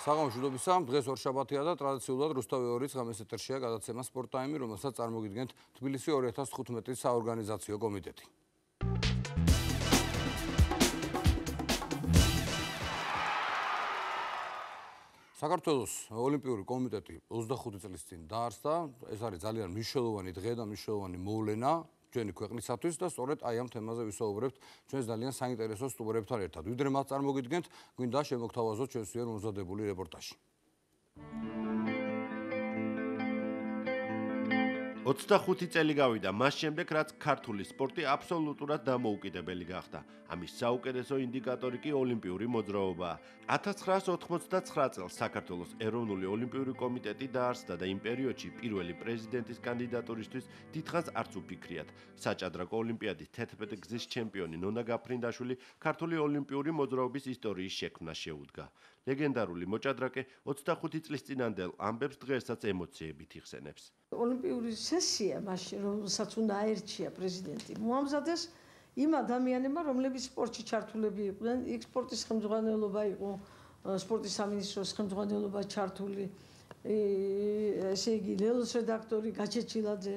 საღამოშუდობისა დღეს ორშაბათია და ტრადიციულად რუსთავი 2-ის ღამეს ეთერშია გადაცემა სპორტ ტაიმი, რომელსაც წარმოგიდგენთ თბილისი 2015-ის საორგანიზაციო კომიტეტი. საქართველოს ოლიმპიური კომიტეტი 25 წლის წინ დაარსდა. ეს არის ძალიან მნიშვნელოვანი დღე და მნიშვნელოვანი მოვლენა ჩვენი ქვეყნისათვის და სწორედ აი ამ თემაზე ვისაუბრებთ ჩვენს ძალიან საინტერესო სტუმრებთან ერთად. ვიდრე მას წარმოგიდგენთ, გვინდა შემოგთავაზოთ ჩვენს მიერ მომზადებული რეპორტაჟი. 25 წელი გავიდა მას შემდეგ, რაც ქართული სპორტი აბსოლუტურად დამოუკიდებელი გახდა. ამის საუკეთესო ინდიკატორი კი ოლიმპიური მოძრაობაა. 1989 წელს საქართველოს ეროვნული ოლიმპიური კომიტეტი დაარსდა და იმ პერიოდში პირველი პრეზიდენტის კანდიდატურისთვის დიდხანს არც უფიქრიათ. საჭადრაკო ოლიმპიადის 11 გზის ჩემპიონი ნონა გაფრინდაშვილი ქართული ოლიმპიური მოძრაობის ისტორიის შექმნას შეუდგა. ლეგენდარული მოჭადრაკე 25 წლის წინანდელ ამბებს დღესაც ემოციებით იხსენებს. ოლიმპიური სესია მაშინ რომელსაც უნდა აერჩია პრეზიდენტი მოამზადეს იმ ადამიანებმა რომლებიც სპორტში ჩართულები იყვნენ. იქ სპორტის ხელმძღვანელობა იყო, სპორტის სამინისტროს ხელმძღვანელობა ჩართული, ესე იგი ლელოს რედაქტორი გაჩეჩილაძე,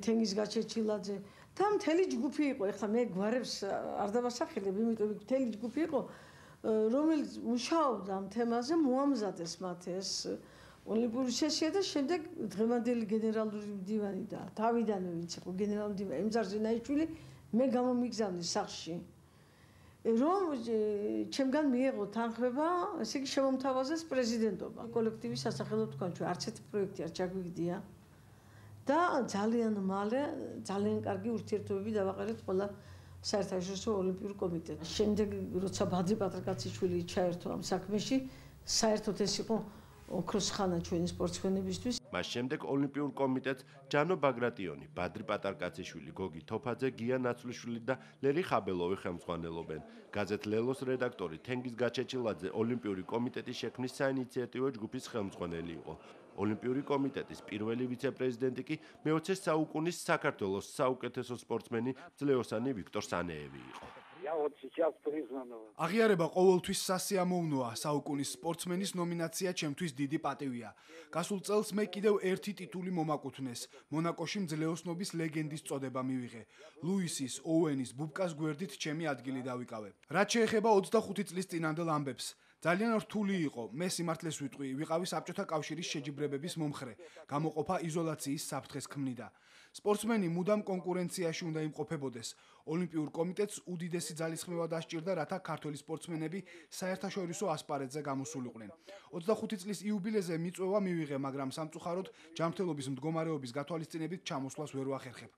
თენგიზ გაჩეჩილაძე და მთელი ჯგუფი იყო. ეხლა მე გვარებს არ დავასახელებ, იმიტომ რომ მთელი ჯგუფი იყო, რომელიც მუშაობდა ამ თემაზე, მოამზადეს მათ ეს ოლიმპიური სესია და შემდეგ დღევანდელი გენერალური მდივანი და თავიდანვე ვინც იყო გენერალური მდივანი ემზარ ზენაიშვილი მე გამომიგზავნე სახლში რომ ჩემგან მიეღო თანხმება, ესე იგი შემომთავაზეს პრეზიდენტობა. კოლექტივის სასახელო თქვა ჩვენ არც ერთი პროექტი არ ჩაგვიგდია და ძალიან მალე ძალიან კარგი ურთიერთობები დავაყენეთ ყველა საერთაშორისო ოლიმპიურ კომიტეტს. შემდეგ როცა ბადრი პატრიკაციშვილი ჩაერთო ამ საქმეში, საერთოდ ეს იყო ოქროს ხანა ჩვენი სპორტსმენებისთვის. მას შემდეგ ოლიმპიურ კომიტეტს ჯანო ბაგრატიონი, ბადრი პატარკაციშვილი, გოგი თოფაძე, გია ნაცვლიშვილი და ლერი ხაბელოვი ხელმძღვანელობენ. გაზეთ ლელოს რედაქტორი თენგიზ გაჩეჩილაძე ოლიმპიური კომიტეტის შექმნის საინიციატივო ჯგუფის ხელმძღვანელი იყო. ოლიმპიური კომიტეტის პირველი ვიცე-პრეზიდენტი კი მე-20 საუკუნის საქართველოს საუკეთესო სპორტსმენი ძლეოსანი ვიქტორ სანეევი იყო. აღიარება ყოველთვის სასიამოვნოა. საუკუნის სპორტსმენის ნომინაცია ჩემთვის დიდი პატივია. გასულ წელს მე კიდევ ერთი ტიტული მომაკუთვნეს. მონაკოში მძლეოსნობის ლეგენდის წოდება მივიღე. ლუისის, ოუენის, ბუბკას გვერდით ჩემი ადგილი დავიკავე. რაც შეეხება 25 წლის წინანდელ ამბებს, ძალიან რთული იყო. მე სიმართლეს ვიტყვი, ვიყავი საბჭოთა კავშირის შეჯიბრებების მომხრე. გამოყოფა იზოლაციის საფრთხეს ქმნიდა. სპორტსმენი მუდამ კონკურენციაში უნდა იმყოფებოდეს. ოლიმპიურ კომიტეტს უდიდესი ძალისხმევა დასჭირდა, რათა ქართველი სპორტსმენები საერთაშორისო ასპარეზზე გამოსულიყვნენ. 25 წლის იუბილეზე მიწვევა მივიღე, მაგრამ სამწუხაროდ ჯანმრთელობის მდგომარეობის გათვალისწინებით ჩამოსვლას ვერ ვახერხებ.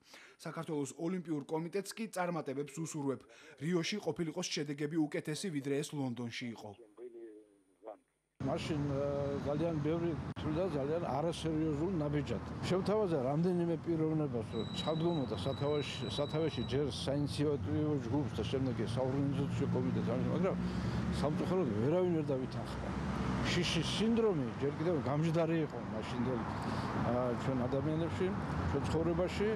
საქართველოს ოლიმპიურ კომიტეტს კი წარმატებებს უსურვებ. რიოში ყოფილიყო შედეგები უკეთესი, ვიდრე ეს ლონდონში იყო. მაშინ ძალიან ბევრი თვლიდა ძალიან არასერიოზულ ნაბიჯად. შევთავაზა რამდენიმე პიროვნებას, რომ ჩადგომოდა სათავეში ჯერ საინიციატივო ჯგუფს და შემდეგ საორგანიზაციო კომიტეტს, მაგრამ სამწუხაროდ ვერავინ ვერ დავითანხმა. შიშის სინდრომი ჯერ კიდევ გამჯდარი იყო მაშინდელი ჩვენ ადამიანებში, ჩვენ ცხოვრებაში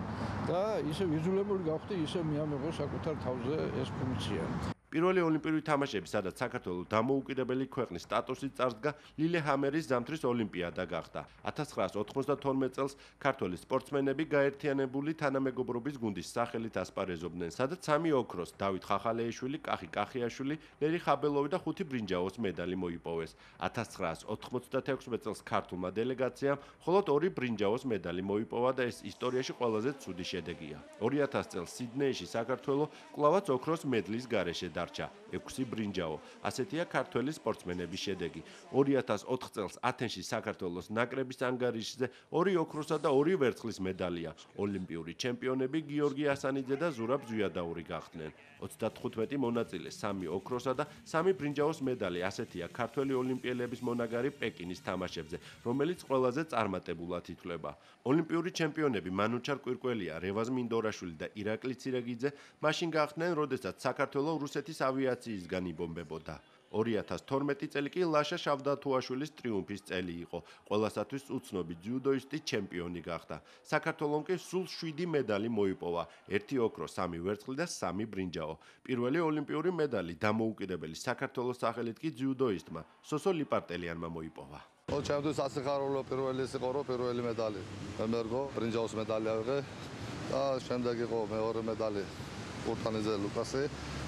და ისე ვიძულებული გავხდი, ისე მიამეღო საკუთარ თავზე ეს ფუნქცია. პირველი ოლიმპიური თამაშები, სადაც საქართველოს დამოუკიდებელი ქვეყნის სტატუსით წარსდგა, ლილეჰამერის ზამთრის ოლიმპიადა გახდა. 1992 წელს ქართველი სპორტსმენები გაერთიანებული თანამეგობრობის გუნდის სახელით ასპარეზობდნენ, სადაც 3 ოქროს, დავით ხახალეიშვილი, კახი კახიაშვილი, ლერი ხაბელოვი და 5 ბრინჯაოს მედალი მოიპოვეს. 1996 წელს ქართულმა დელეგაციამ მხოლოდ 2 ბრინჯაოს მედალი მოიპოვა და ეს ისტორიაში ყველაზე ცუდი შედეგია. 2000 წელს სიდნეიში საქართველოს კვლავაც ოქროს მედლის გარეშე დარჩა 6 ბრინჯაო. ასეთია ქართველი სპორტსმენების შედეგი. 2004 წელს ათენში საქართველოს ნაკრების ანგარიშზე 2 ოქროსა და 2 ვერცხლის მედალია. ოლიმპიური ჩემპიონები გიორგი ასანიძე და ზურაბ ზვიადაური გახდნენ. 35 მონაწილე, 3 ოქროსა და 3 ბრინჯაოს მედალი. ასეთია ქართველი ოლიმპიელების მონაგარი პეკინის თამაშებზე, რომელიც ყველაზე წარმატებულად ითვლება. ოლიმპიური ჩემპიონები მანუჩარ კვირკველია, რევაზ მინდორაშვილი და ირაკლი ცირეგიძე მაშინ გახდნენ, როდესაც საქართველოს რუსეთის ავიაციისგან იბომბებოდა. 2012 წელი კი ლაშა შავდათუაშვილის ტრიუმფის წელი იყო. ყველასათვის უცნობი ძიუდოისტი ჩემპიონი გახდა. საქართველომ კი სულ 7 მედალი მოიპოვა. 1 ოქრო, 3 ვერცხლი და 3 ბრინჯაო. პირველი ოლიმპიური медали დამოუკიდებელი საქართველოს სახელით კი ძიუდოისტმა სოსო ლიპარტელიანმა მოიპოვა. ჩემთვის ასიხარულო პირველი ის იყო, რომ პირველი медали მემერგო, ბრინჯაოს медали ავიღე და შემდეგ იყო მეორე медали ურთანიძე ლუკასი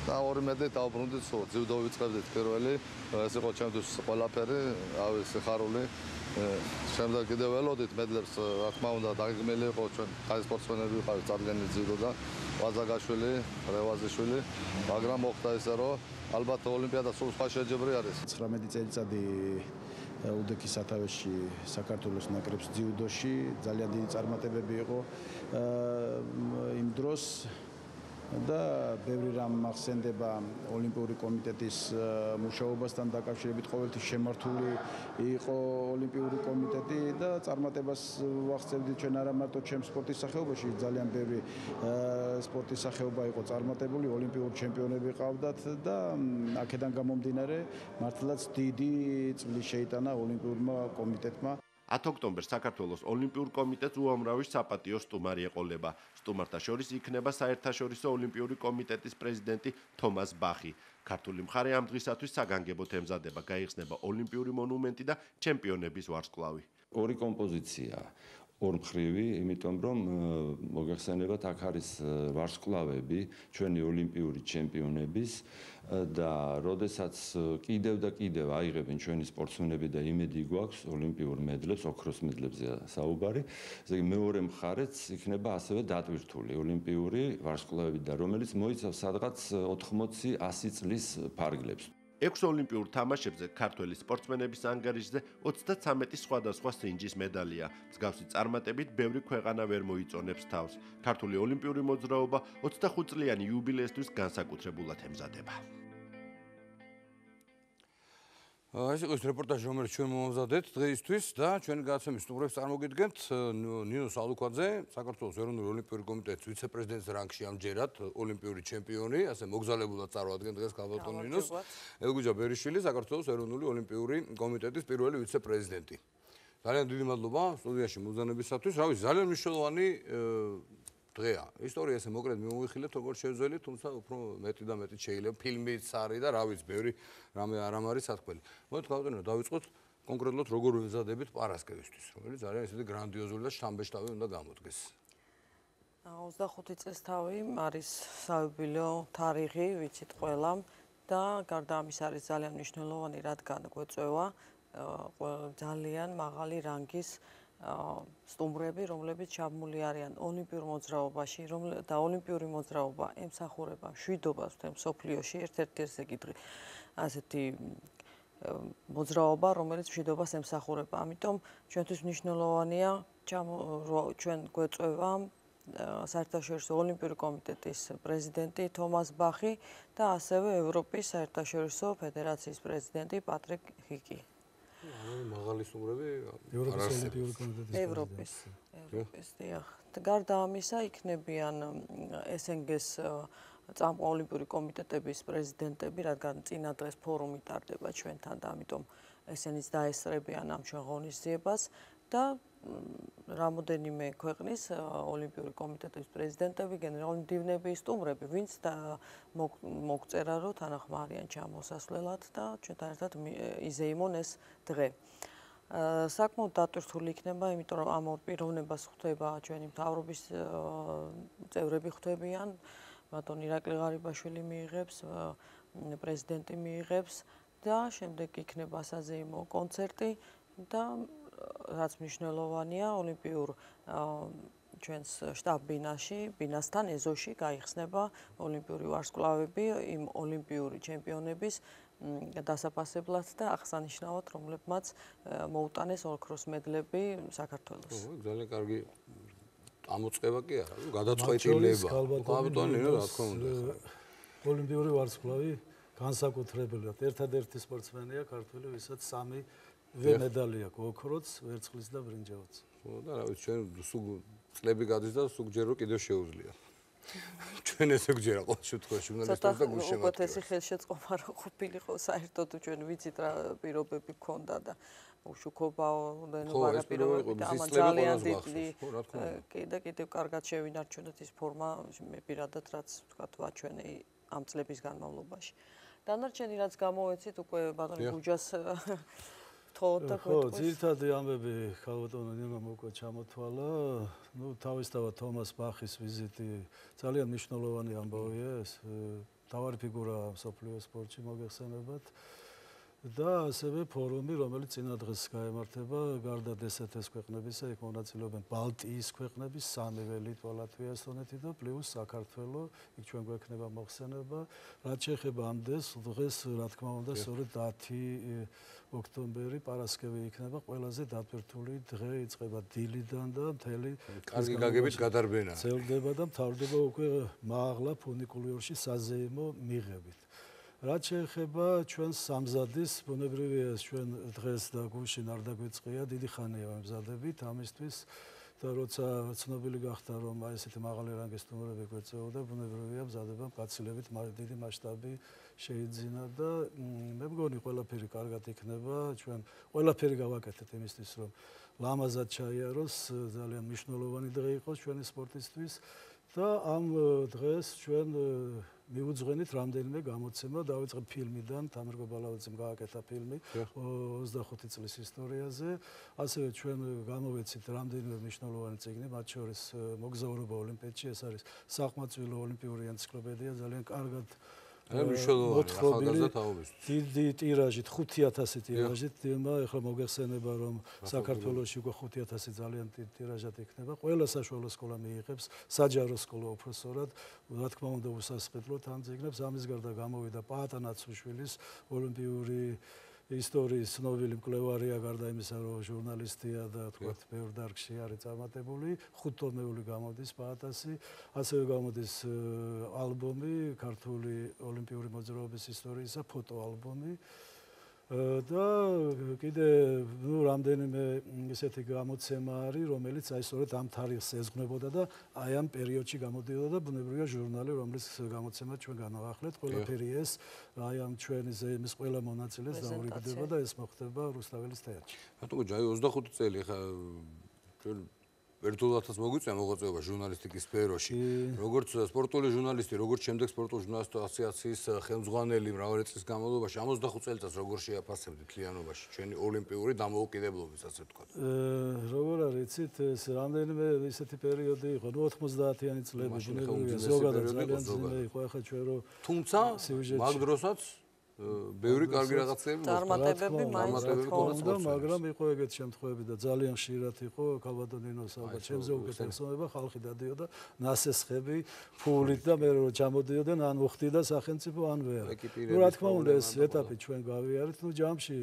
და ორი медали დავბრუნდით სულ ძიუდო ვიწყებდით პირველი, ეს იყო ჩემთვის ყველაფერი, ავი სიხარული. შემდეგ კიდევ ველოდით медლებს, რა თქმა უნდა, დაგეგმილი იყო ჩვენ ხაი სპორტსმენები ვიყავით წარდგენილი ძიუდოდან, ვაზაგაშვილი, რევაზიშვილი, მაგრამ მოხდა ისე, რომ ალბათ ოლიმპიადა სულ სხვა შეჯიბრი არის. 19 წელიწადი უდექის სათავეში საქართველოს ნაკრებს ძიუდოში ძალიან დიდი წარმატებები იყო იმ დროს და ბევრი რამ ახსენდება ოლიმპიური კომიტეტის მუშაობასთან დაკავშირებით. ყოველთვის შემართული იყო ოლიმპიური კომიტეტი და წარმატებას ვახცევდით ჩვენ არა მარტო ჩემს სპორტის სახეობაში, ძალიან ბევრი სპორტის სახეობა იყო წარმატებული, ოლიმპიური ჩემპიონები ყავდათ და აქედან გამომდინარე მართლაც დიდი წვლილი შეიტანა ოლიმპიურმა კომიტეტმა. 10 ოქტომბერს საქართველოს ოლიმპიურ კომიტეტს უამრავი საპატიო სტუმარი ეყოლება. სტუმართა შორის იქნება საერთაშორისო ოლიმპიური კომიტეტის პრეზიდენტი თომას ბახი. ქართული მხარე ამ დღისათვის საგანგებოდ ემზადება, გაიხსნება ოლიმპიური მონუმენტი და ჩემპიონების ვარსკვლავი. ორი კომპოზიცია ორმხრივი, იმიტომ რომ მოგეხსენებათ, აქ არის ვარსკვლავები ჩვენი ოლიმპიური ჩემპიონების და როდესაც კიდევ და კიდევ აიღებენ ჩვენი სპორტსმენები და იმედი გვაქვს ოლიმპიურ მედლებს, ოქროს მედლებზეა საუბარი, ესე იგი მეორე მხარეც იქნება ასევე დატვირთული ოლიმპიური ვარსკვლავები და რომელიც მოიცავს სადღაც 80-100 წლის ფარგლებს. 6 ოლიმპიურ თამაშებზე ქართველი სპორტსმენების ანგარიშზე 33 სხვადასხვა სინჯის მედალია. მსგავსი წარმატებით ბევრი ქვეყანა ვერ მოიწონებს თავს. ქართული ოლიმპიური მოძრაობა 25 წლიანი იუბილეისთვის განსაკუთრებულად ემზადება. ეს იყო რეპორტაჟი, რომელიც ჩვენ მომამზადეთ დღეისთვის და ჩვენი გადაცემის სტუმრებს წარმოგიდგენთ ნინო სალუქვაძე, საქართველოს ეროვნული ოლიმპიური კომიტეტის ვიცე-პრეზიდენტის რანგში ამჯერად ოლიმპიური ჩემპიონი, ასე მოგზაურობულად წარვადგენ დღეს ქალბატონ ნინოს. ელგუჯა ბერიშვილი, საქართველოს ეროვნული ოლიმპიური კომიტეტის პირველი ვიცე-პრეზიდენტი. ძალიან დიდი მადლობა სტუდიაში მოგზაურობისათვის. რა ვიცი, ძალიან მნიშვნელოვანი დღეა. ისტორია ესე მოკლედ მიმოვიხილეთ, როგორც შევძველით, თუმცა უფრო მეტი და მეტი შეიძლება ფილმიც არის და რა ვიცი, ბევრი რამე არ არის სათქმელი. მოდით გავტანოთ, დავიწყოთ კონკრეტულად როგორ ვემზადებით პარასკევისთვის, რომელიც ძალიან ისეთი გრანდიოზული და შთამბეჭდავი უნდა გამოდგეს. 25 წლის თავი არის საიუბილეო თარიღი, ვიცით ყველამ და გარდა ამის არის ძალიან მნიშვნელოვანი, რადგან გვეწევა ძალიან მაღალი რანგის სტუმრები, რომლებიც ჩაბმული არიან ოლიმპიურ მოძრაობაში, და ოლიმპიური მოძრაობა ემსახურება მშვიდობას მთელ მსოფლიოში, ერთ-ერთი ასეთი მოძრაობა, რომელიც მშვიდობას ემსახურება. ამიტომ ჩვენთვის მნიშვნელოვანია ჩვენ გვეწევა საერთაშორისო ოლიმპიური კომიტეტის პრეზიდენტი თომას ბახი და ასევე ევროპის საერთაშორისო ფედერაციის პრეზიდენტი პატრიკ ჰიკი. მაღალი სტუმრები ევროპის დიახ. გარდა ამისა იქნებიან SNG-ს ოლიმპიური კომიტეტების პრეზიდენტები, რადგან წინა დღეს ფორუმი ტარდება ჩვენთან და ამიტომ ესენიც დაესწრებიან ამ ჩვენ ღონისძიებას და რამოდენიმე ქვეყნის ოლიმპიური კომიტეტების პრეზიდენტები, გენერალური მდივნები, სტუმრები, ვინც მოგწერა, რომ თანახმარიან ჩამოსასვლელად და ჩვენთან ერთად იზეიმონ ეს დღე. საკმაოდ დატვირთული იქნება, იმიტომ რომ ამ ორ პიროვნებას ხვდება ჩვენი მთავრობის წევრები ხვდებიან, ბატონ ირაკლი ღარიბაშვილი მიიღებს, პრეზიდენტი მიიღებს და შემდეგ იქნება საზეიმო კონცერტი და რაც მნიშვნელოვანია, ოლიმპიურ ჩვენს შტაბ-ბინაში, ბინასთან ეზოში გაიხსნება ოლიმპიური ვარსკვლავები იმ ოლიმპიური ჩემპიონების დასაფასებლად და აღსანიშნავად, რომლებმაც მოუტანეს ოქროს მედლები საქართველოს. ძალიან კარგი ამოწყება კი არა, გადაწყვეტილება. ქალბატონი ნინო, რა თქმა უნდა. ოლიმპიური ვარსკვლავი განსაკუთრებულად ერთადერთი სპორტსმენია ქართველი, ვისაც 3 მედალი აქვს, ოქროც, ვერცხლის და ბრინჯაოც. და რა ვიცი, ჩვენ სულ წლები გადის და სულ ჯერ რომ კიდევ შეუძლია. ჩვენ ესე გვჯერა ყოველ შემთხვევაში ჟურნალისტებს და გულშემატკივრებს. უკეთესი ხელშეწყობა რო ყოფილიყო საერთოდ ჩვენ ვიცით რა პირობები გქონდა და უშუქობა ვარაპირობები და ამან ძალიან დიდი კიდევ კარგად შევინარჩუნეთ ის ფორმა მე პირადად რაც ვთქვათ ვაჩვენე ამ წლების განმავლობაში. დანარჩენი რაც გამოვეცით უკვე ბატონი გუჯას თხოვოთ და გვეტყვის. ძირითადი ამბები ქალბატონო ნინომ უკვე ჩამოთვალა. თავისთავად თომას ბახის ვიზიტი ძალიან მნიშვნელოვანი ამბავია ეს. მთავარი ფიგურა მსოფლიო სპორტში მოგეხსენებათ. და ასევე ფორუმი, რომელიც წინა დღეს გაემართება გარდა DST-ის ქვეყნებისა, იქ მონაწილეობენ ბალტიის ქვეყნების, სამივე ლიტვა, ლატვია, ესტონეთი და პლუს საქართველო, იქ ჩვენ გვექნება მოხსენება. რაც შეეხება ამ დღეს, რა თქმა უნდა, სწორედ 10 ოქტომბერი პარასკევი იქნება ყველაზე დატვირთული დღე, იწყება დილიდან და მთელი კარგი გაგებით გადარბენა. ძლდება და მთავრდება უკვე მაღლა ფუნიკულიორში საზეიმო მიღებით. რაც შეეხება ჩვენს სამზადის, ბუნებრივია ჩვენ დღეს და გუშინ არ დაგვიწყია, დიდი ხანია ვემზადებით ამისთვის და როცა ცნობილი გახდა, რომ აი ესეთი მაღალი რანგის სტუმრები გვეწეოდა, ბუნებრივია მზადება მკაცილებით დიდი მასშტაბი შეიძინა და მე მგონი ყველაფერი კარგად იქნება, ჩვენ ყველაფერი გავაკეთეთ იმისთვის, რომ ლამაზად ჩაიაროს, ძალიან მნიშვნელოვანი დღე იყოს ჩვენი სპორტისთვის და ამ დღეს ჩვენ მივუძღვენით რამდენიმე გამოცემა, დავიწყებ ფილმიდან, თამარ გობალაძემ გააკეთა ფილმი 25 წლის ისტორიაზე. ასევე ჩვენ გამოვეცით რამდენიმე მნიშვნელოვანი წიგნი, მათ შორის მოგზაურობა ოლიმპიადში, ეს არის საყმაწვილო ოლიმპიური ენციკლოპედია, ძალიან კარგად მოთხრობილი, დიდი ტირაჟით, 5000 ტირაჟით, ეხლა მოგეხსენება, რომ საქართველოში უკვე 5000 ძალიან დიდი ტირაჟად იქნება. ყველა საშუალო სკოლა მიიღებს საჯარო სკოლა უფროსურად, რა თქმა უნდა უსასყიდლოდ ამ წიგნებს. ამის გარდა გამოვიდა პაატა ნაცუშვილის ოლიმპიური ისტორიის ცნობილი მკვლევარია, გარდა იმისა, რომ ჟურნალისტია და თქვათ ბევრ დარგში არის წარმატებული, 5 ტომეული გამოდის პაატასი, ასევე გამოდის ალბომი ქართული ოლიმპიური მოძრაობის ისტორიისა, ფოტოალბომი და კიდე რამდენიმე ისეთი გამოცემა არის, რომელიც აი სწორედ ამ თარიღს ეძღვნებოდა და აი ამ პერიოდში გამოდიოდა და ბუნებრივია ჟურნალი, რომლის გამოცემა ჩვენ განვახლებთ, ყველაფერი ეს აი ამ ჩვენი ზეიმის ყველა მონაწილეს დაურიგდება და ეს მოხდება რუსთაველის თეატრში. ბატონო ჯაი 25 წელი ხა ჩვენ ერთდროულად მოგვიწია მოღვაწეობა ჟურნალისტიკის სფეროში. როგორც სპორტული ჟურნალისტი, როგორც შემდეგ სპორტული ჟურნალისტთა ასოციაციის ხელმძღვანელი მრავალი წლის განმავლობაში, ამ 25 წელიწადს როგორ შეაფასებდი მთლიანობაში ჩვენი ოლიმპიური დამოუკიდებლობის, ასე ვთქვათ. როგორ არის, იცით, ეს რამდენიმე ისეთი პერიოდი იყო, 90-იანი წლები, ბუნებრივია, ზოგადად ძალიან ძიმე იყო, ახლა ჩვენ რო თუმცა მაგ დროსაც ბევრი კარგი რაღაცები წარმატებები მაინც მოხდა, მაგრამ იყო ეგეთ შემთხვევები და ძალიან ხშირად იყო ქალბატონინოს ალბათ ჩემზე უკეთესობა, ხალხი დადიოდა ნასესხები ფულით და მე რო ჩამოდიოდნენ ან უხდიდა სახელმწიფო ან ვერ. რა თქმა უნდა ეს ეტაპი ჩვენ გავიარეთ, ჯამში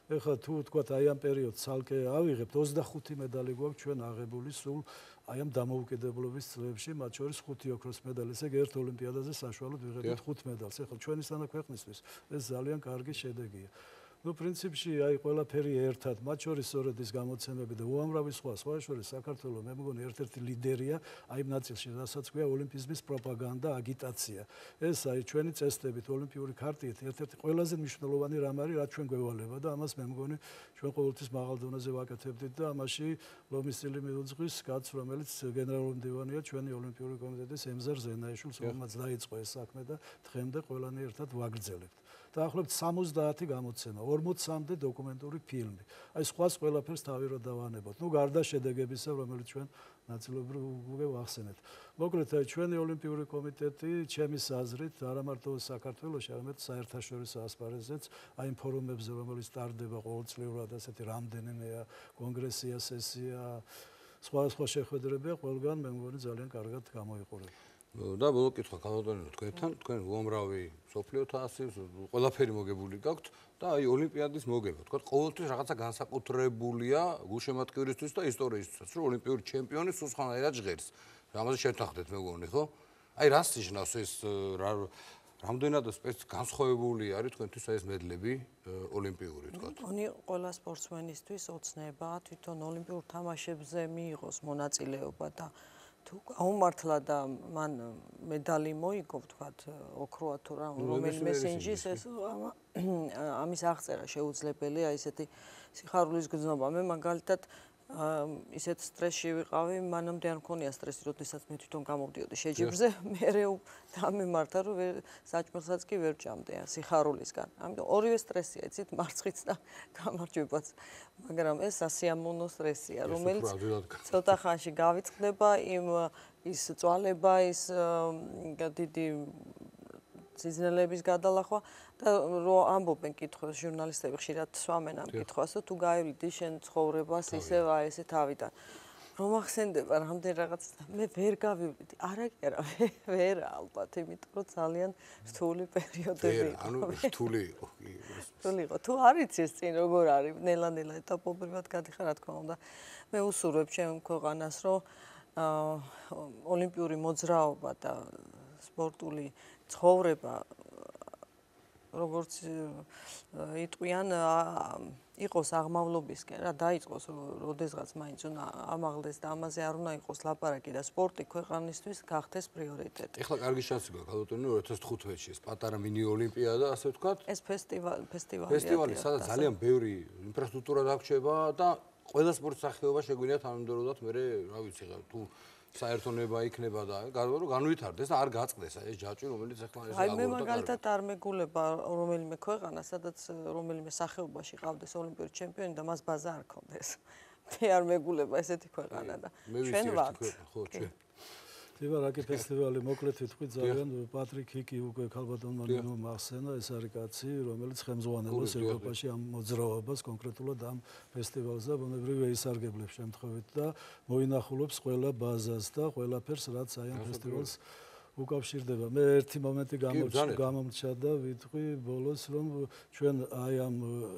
ეხლა თუ თქვათ აი ამ პერიოდს ცალკე ავიღებთ 25 медали გვაქვს ჩვენ აღებული სულ აი ამ დამოუკიდებლობის წლებში, მათ შორის 5 ოქროს медали, ესე იგი ერთ ოლიმპიადაზე საშუალოდ ვიღებთ 5 медалს. ეხლა ჩვენისთანა ქვეყნისთვის ეს ძალიან კარგი შედეგია. პრინციპში აი ყველაფერი ერთად, მათ შორის სწორედ ის გამოცემები და უამრავი სხვა შორის საქართველოს მე მგონი ერთ-ერთი ლიდერია აი ამ ნაწილში, რასაც ქვია ოლიმპიზმის პროპაგანდა, აგიტაცია. ეს აი ჩვენი წესდებით, ოლიმპიური ქარტიით ერთ-ერთი ყველაზე მნიშვნელოვანი რამ არის, რაც ჩვენ გვევალება და ამას მე მგონი ჩვენ ყოველთვის მაღალ დონეზე ვაკეთებდით და ამაში ლომის წილი მიუძღვის კაცს, რომელიც გენერალური მდივანია ჩვენი ოლიმპიური კომიტეტის ემზარ ზენაიშვილს, რომელმაც დაიწყო ეს საქმე და დღემდე ყველანი ერთად ვაგრძელებთ. დაახლოებით 70 გამოცემა, 40-მდე დოკუმენტური ფილმი. აი სხვას ყველაფერს თავი რო დავანებოთ. გარდა შედეგებისა, რომელიც ჩვენ ნაწილობრივ უკვე ვახსენეთ. მოკლედ, აი ჩვენი ოლიმპიური კომიტეტი, ჩემის აზრით, არა მარტო საქართველოში, არამედ საერთაშორისო ასპარეზზეც, აი იმ ფორუმებზე, რომელიც ტარდება ყოველწლიურად, ასეთი რამდენიმეა კონგრესია, სესია, სხვა შეხვედრებია, ყველგან მე მგონი ძალიან კარგად გამოიყურება. და ბოლო კითხვა ქალბატონო თქვენთან, თქვენ უამრავი სოფლიო თასის, ყველაფერი მოგებული გაქვთ და აი ოლიმპიადის მოგება, თქვა ყოველთვის რაღაცა განსაკუთრებულია გულშემატკივრისთვის და ისტორიისთვისაც, რომ ოლიმპიური ჩემპიონი სულ სხვანაირად ჟღერს. ამაზე შევთანხმდეთ მე მგონი, ხო? აი რას ნიშნავს ეს რამდენად განსხვავებული არის თქვენთვის ეს მედლები ოლიმპიური, თქვა. მგონი ყველა სპორტსმენისთვის ოცნება თვითონ ოლიმპიურ თამაშებზე მიიღოს მონაწილეობა და თუ გაუმართლა და მან მედალი მოიგო, ვთქვათ, ოქროა თუ რა, რომელიმე სინჯის ეს ამის აღწერა შეუძლებელია, ისეთი სიხარულის გრძნობა. მე მაგალითად ისეთ სტრესში ვიყავი, მანამდე არ მქონია სტრესი, როდესაც მე თვითონ გამოვდიოდი შეჯიბრზე, მერე დამემართა, რომ საჭმელსაც კი ვერ ჭამდი სიხარულისგან. ამიტომ ორივე სტრესია, იცით, მარცხიც და გამარჯვებაც. მაგრამ ეს სასიამოვნო სტრესია, რომელიც ცოტა ხანში გავიწყდება, ის წვალება, ის დიდი სიზნელების გადალახვა და რო ამბობენ კითხვას ჟურნალისტები ხშირად სვამენ ამ კითხვას, თუ გაივლიდე შენ ცხოვრებას ისევ აი ესე თავიდან. რომ ახსენდება რამდენ რაღაც მე ვერ გავივლიდი. არა, ვერ ალბათ, იმიტომ რომ ძალიან რთული პერიოდები იყო. ანუ რთული იყო. რთული იყო. თუ არ იცი ეს წინ როგორ არის, ნელა-ნელა ეტაპობრივად გადიხარ, რა თქმა უნდა. მე უსურვებ ჩემ ქვეყანას, რომ ოლიმპიური მოძრაობა და სპორტული ცხოვრება როგორც იტყვიან იყოს აღმავლობისკენ რა დაიწყოს როდესღაც მაინც უნდა ამაღლდეს და ამაზე არ უნდა იყოს ლაპარაკი და სპორტი ქვეყანისთვის გახდეს პრიორიტეტი. ეხლა კარგი შანსი გვაქვს ქალბატონო 2015-ში ეს პატარა მინი ოლიმპიადა ასე ვთქვათ. ეს ფესტივალი სადაც ძალიან ბევრი ინფრასტრუქტურა დაგრჩება და ყველა სპორტ სახეობა შეგვიძლია თანამედროვებლად მე რა ვიცი თუ საერთონება იქნება და განვითარდეს და არ გაწყდეს ეს ჯაჭვი რომელიც ახლა ეს აი მე მაგალითად არ მეგულება რომელიმე ქვეყანა სადაც რომელიმე სახეობაში ყავდეს ოლიმპიური ჩემპიონი და მას ბაზა არ ქონდეს. მე არ მეგულება ესეთი ქვეყანა და ჩვენ ვართ. ხო ჩვენ თებარაკი ფესტივალი მოკლედ ვიტყვი ძალიან პატრიკ ჰიკი უკვე ქალბატონმა მახსენა ეს არის კაცი რომელიც ხელმძღვანელობს ევროპაში ამ მოძრაობას კონკრეტულად ამ ფესტივალს და ბუნებრივია ისარგებლებს შემთხვევით და მოინახულობს ყველა ბაზას და ყველაფერს რაც აი ამ ფესტივალს უკავშირდება. მე ერთი მომენტი გამომჩა და ვიტყვი ბოლოს რომ ჩვენ აი ამ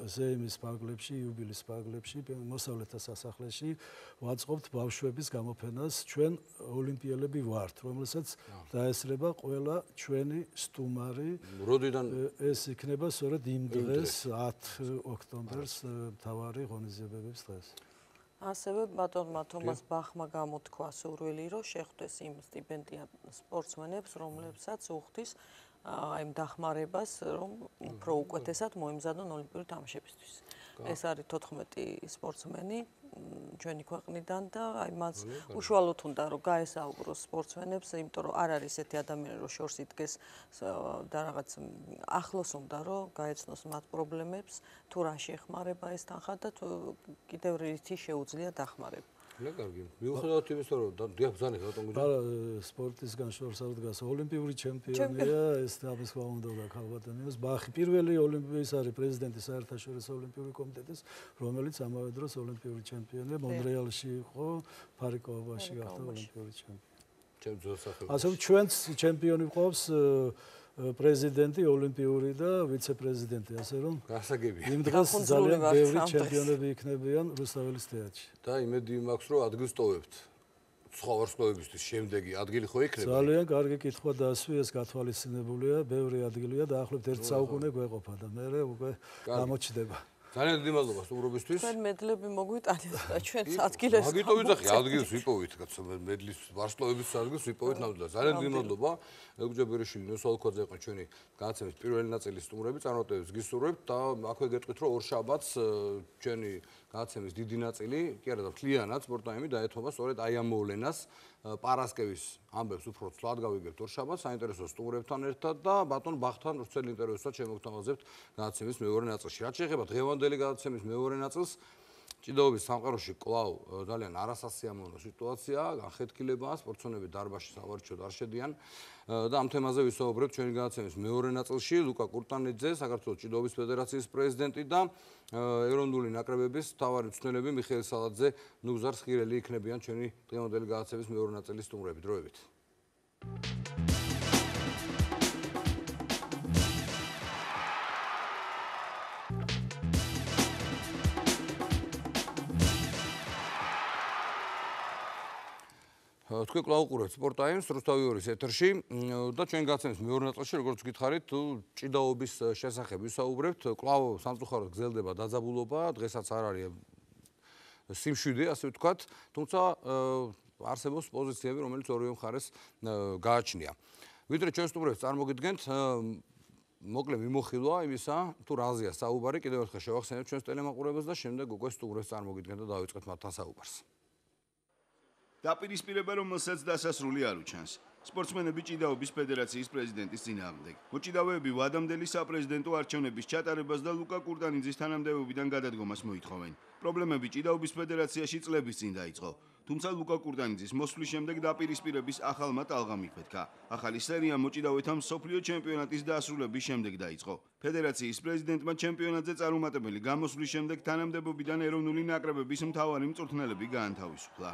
ზეიმის პარკლებში, იუბილის პარკლებში, მოსავლეთა სასახლეში ვაწყობთ ბავშვების გამოფენას. ჩვენ ოლიმპიელები ვართ, რომელსაც დაესწრება ყველა ჩვენი სტუმარი. როდიდან ეს იქნება სწორედ იმ დღეს 10 ოქტომბერს მთავარი ღონისძიებების დღეს. ასევე ბატონმა თომას ბახმა გამოთქვა სურვილი, რომ შეხვდეს იმ სტიპენდიან სპორტსმენებს, რომლებსაც უხდის აი დახმარებას, რომ უფრო უკეთესად მოემზადონ ოლიმპიური თამაშებისთვის. ეს არის 14 სპორტსმენი ჩვენი ქვეყნიდან და აი მას უშუალოდ უნდა რომ გაესაუბროს სპორტსმენებს, იმიტომ რომ არ არის ესეთი ადამიანი, რომ შორს იდგეს და რაღაც ახლოს უნდა რომ გაეცნოს მათ პრობლემებს, თუ რა შეეხმარება ეს თანხა და კიდევ რითი შეუძლია დახმარება. ნუ კარგი. მიუხედავად იმისა, რომ დიაბზანე რატომ გიძახ? არა, სპორტისგან შორს არ დგას. ოლიმპიური ჩემპიონია, ეს ამის ხმა უნდა ქალბატონიოს. ბახი პირველი ოლიმპიის არის პრეზიდენტი საერთაშორისო ოლიმპიური კომიტეტის, რომელიც ამავე დროს ოლიმპიური ჩემპიონია. მონრეალში იყო, ფარიკოვაში გახდა ოლიმპიური ჩემპიონი. ჩემ ძველსახელში. ასე ჩვენც ჩემპიონი გვყავს პრეზიდენტი ოლიმპიური და ვიცე-პრეზიდენტი, ასე რომ გასაგებია. იმ დღეს ძალიან ბევრი ჩემპიონები იქნებიან რუსთაველის თეატრში. და იმედი მაქვს, რომ ადგილს ტოვებთ. სხვა ვარსკვლავებისთვის შემდეგი ადგილი ხო იქნება? ძალიან კარგი კითხვა დასვი, ეს გათვალისწინებულია, ბევრი ადგილია და ახლობთ 1 საუკუნე გვეყოფა და მე უკვე გამოჩდება. ძალიან დიდი მადლობა სტუმრობისთვის. ჩვენ მედლები მოგვიტანეთ და ჩვენს ადგილებს. მაგიტო ვიძახი, ადგილს ვიპოვით, კაცო, მედლის ვარსკვლავების ადგილს ვიპოვით ნამდვილად. ძალიან დიდი მადლობა. ელგუჯაბერიშვილი, ნოსალკოძე იყო ჩვენი განაცემის პირველი ნაწილის სტუმრები, წარმატებებს გისურვებთ და აქვე გეტყვით, რომ ორ შაბათს ჩვენი განაცემის დიდი ნაწილი, კი არა და მთლიანად სპორტაიმი დაეთმობა სწორედ აი ამ მოვლენას. პარასკევის ამბებს უფრო ცვლად გავიგებთ ორ შაბათს საინტერესო სტუმრებთან ერთად და ბატონ ბახთან ვრცელ ინტერვიუსაც შემოგთავაზებთ განაცემის მეორე ნაწილში. რაც შეეხება დღევანდელი განაცემის მეორე ნაწილს, ჭიდაობის სამყაროში კვლავ ძალიან არასასიამოვნო სიტუაცია, განხეთქილებაა, სპორტსმენები დარბაზში სავარჯიშოდ არ შედიან და ამ თემაზე ვისაუბრებთ ჩვენი განაცემის მეორე ნაწილში. ლუკა კურტანიძე, საქართველოს ჭიდაობის ფედერაციის პრეზიდენტი და ეროვნული ნაკრებების მთავარი მწვრთნელები მიხეილ სალაძე, ნუგზარ სხირელი იქნებიან ჩვენი დღევანდელი განაცემის მეორე ნაწილის სტუმრები. დროებით. თქვენ კვლავ უყურებთ სპორტაიმს რუსთავი 2-ის ეთერში და ჩვენ განაცემის მეორე ნაწილში როგორც გითხარით თუ ჭიდაობის შესახებ ვისაუბრებთ კვლავ სამწუხაროდ გრძელდება დაძაბულობა დღესაც არ არის სიმშვიდე ასე ვთქვათ თუმცა არსებობს პოზიციები, რომელიც ორივე მხარეს გააჩნია. ვიდრე ჩვენ სტუმრებს წარმოგიდგენთ, მოკლე მიმოხილვა იმისა, თუ რაზეა საუბარი, კიდევ ერთხელ შევახსენებთ ჩვენს ტელემაყურებელს და შემდეგ უკვე სტუმრებს წარმოგიდგენთ და დავიწყეთ მათთან საუბარს. დაპირისპირება, რომელსაც დასასრული არ უჩანს. სპორტსმენები ჭიდაობის ფედერაციის პრეზიდენტის წინააღმდეგ. მოჭიდავეები ვადამდელი საპრეზიდენტო არჩევნების ჩატარებას და ლუკა კურტანიძის თანამდებობიდან გადადგომას მოითხოვენ. პრობლემები ჭიდაობის ფედერაციაში წლების წინ დაიწყო. თუმცა ლუკა კურტანიძის მოსვლის შემდეგ დაპირისპირების ახალმა ტალღამ იკვეთქა. ახალი სერია მოჭიდავეთა მსოფლიო ჩემპიონატის დასრულების შემდეგ დაიწყო. ფედერაციის პრეზიდენტმა ჩემპიონატზე წარუმატებელი გამოსვლის შემდეგ თანამდებობიდან ეროვნული ნაკრებების მთავარი მწვრთნელები გაანთავისუფლა.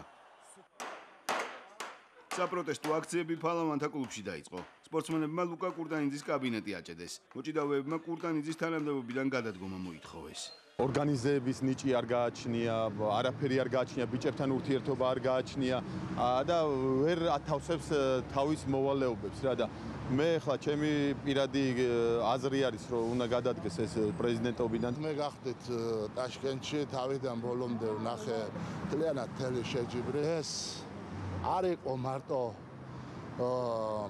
საპროტესტო აქციები ფალავანთა კლუბში დაიწყო. სპორტსმენებმა ლუკა კურტანიძის კაბინეტი აჭედეს. მოჭიდავეებმა კურტანიძის თანამდებობიდან გადადგომა მოითხოვეს. ორგანიზების ნიჭი არ გააჩნია, არაფერი არ გააჩნია, ბიჭებთან ურთიერთობა არ გააჩნია და ვერ ათავსებს თავის მოვალეობებს რა და მე ხლა ჩემი პირადი აზრი არის რომ უნდა გადადგეს ეს პრეზიდენტობიდან. მე გახდით ტაშკენტში თავიდან ბოლომდე ვნახე მთლიანად მთელი შეჯიბრი. ეს არ იყო მარტო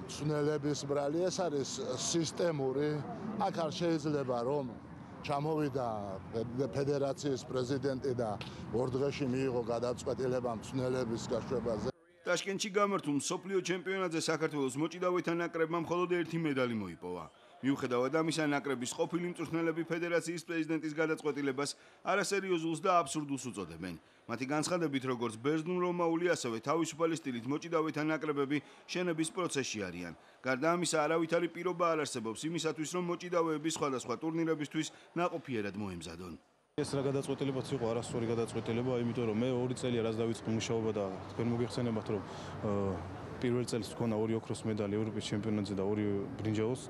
მცნელების ბრალი, ეს არის სისტემური. აქ არ შეიძლება რომ ჩამოვიდა ფედერაციის პრეზიდენტი და ორ დღეში მიიღო გადაწყვეტილება მცნელების გაშვებაზე. ტაშკენტში გამართულ მსოფლიო ჩემპიონატზე საქართველოს მოჭიდავეთა ნაკრებმა მხოლოდ ერთი медаლი მოიპოვა. მიუხედავად ამისა, ნაკრების ყოფილი მწვრთნელები ფედერაციის პრეზიდენტის გადაწყვეტილებას არასერიოზულს და აბსურდულს უწოდებენ. მათი განცხადებით, როგორც ბერძნულ-რომაული, ასევე თავისუფალი სტილით მოჭიდავეთა ნაკრებები შენების პროცესში არიან. გარდა ამისა, არავითარი პირობა არ არსებობს იმისათვის, რომ მოჭიდავეები სხვადასხვა ტურნირებისთვის ნაყოფიერად მოემზადონ. ეს რა გადაწყვეტილებაც იყო არასწორი გადაწყვეტილება, იმიტომ რომ მე 2 წელია რაც დავიწყე მუშაობა და თქვენ მოგეხსენებათ, რომ პირველ წელს მქონდა 2 ოქროს медаლი ევროპის ჩემპიონატზე და 2 ბრინჯაოს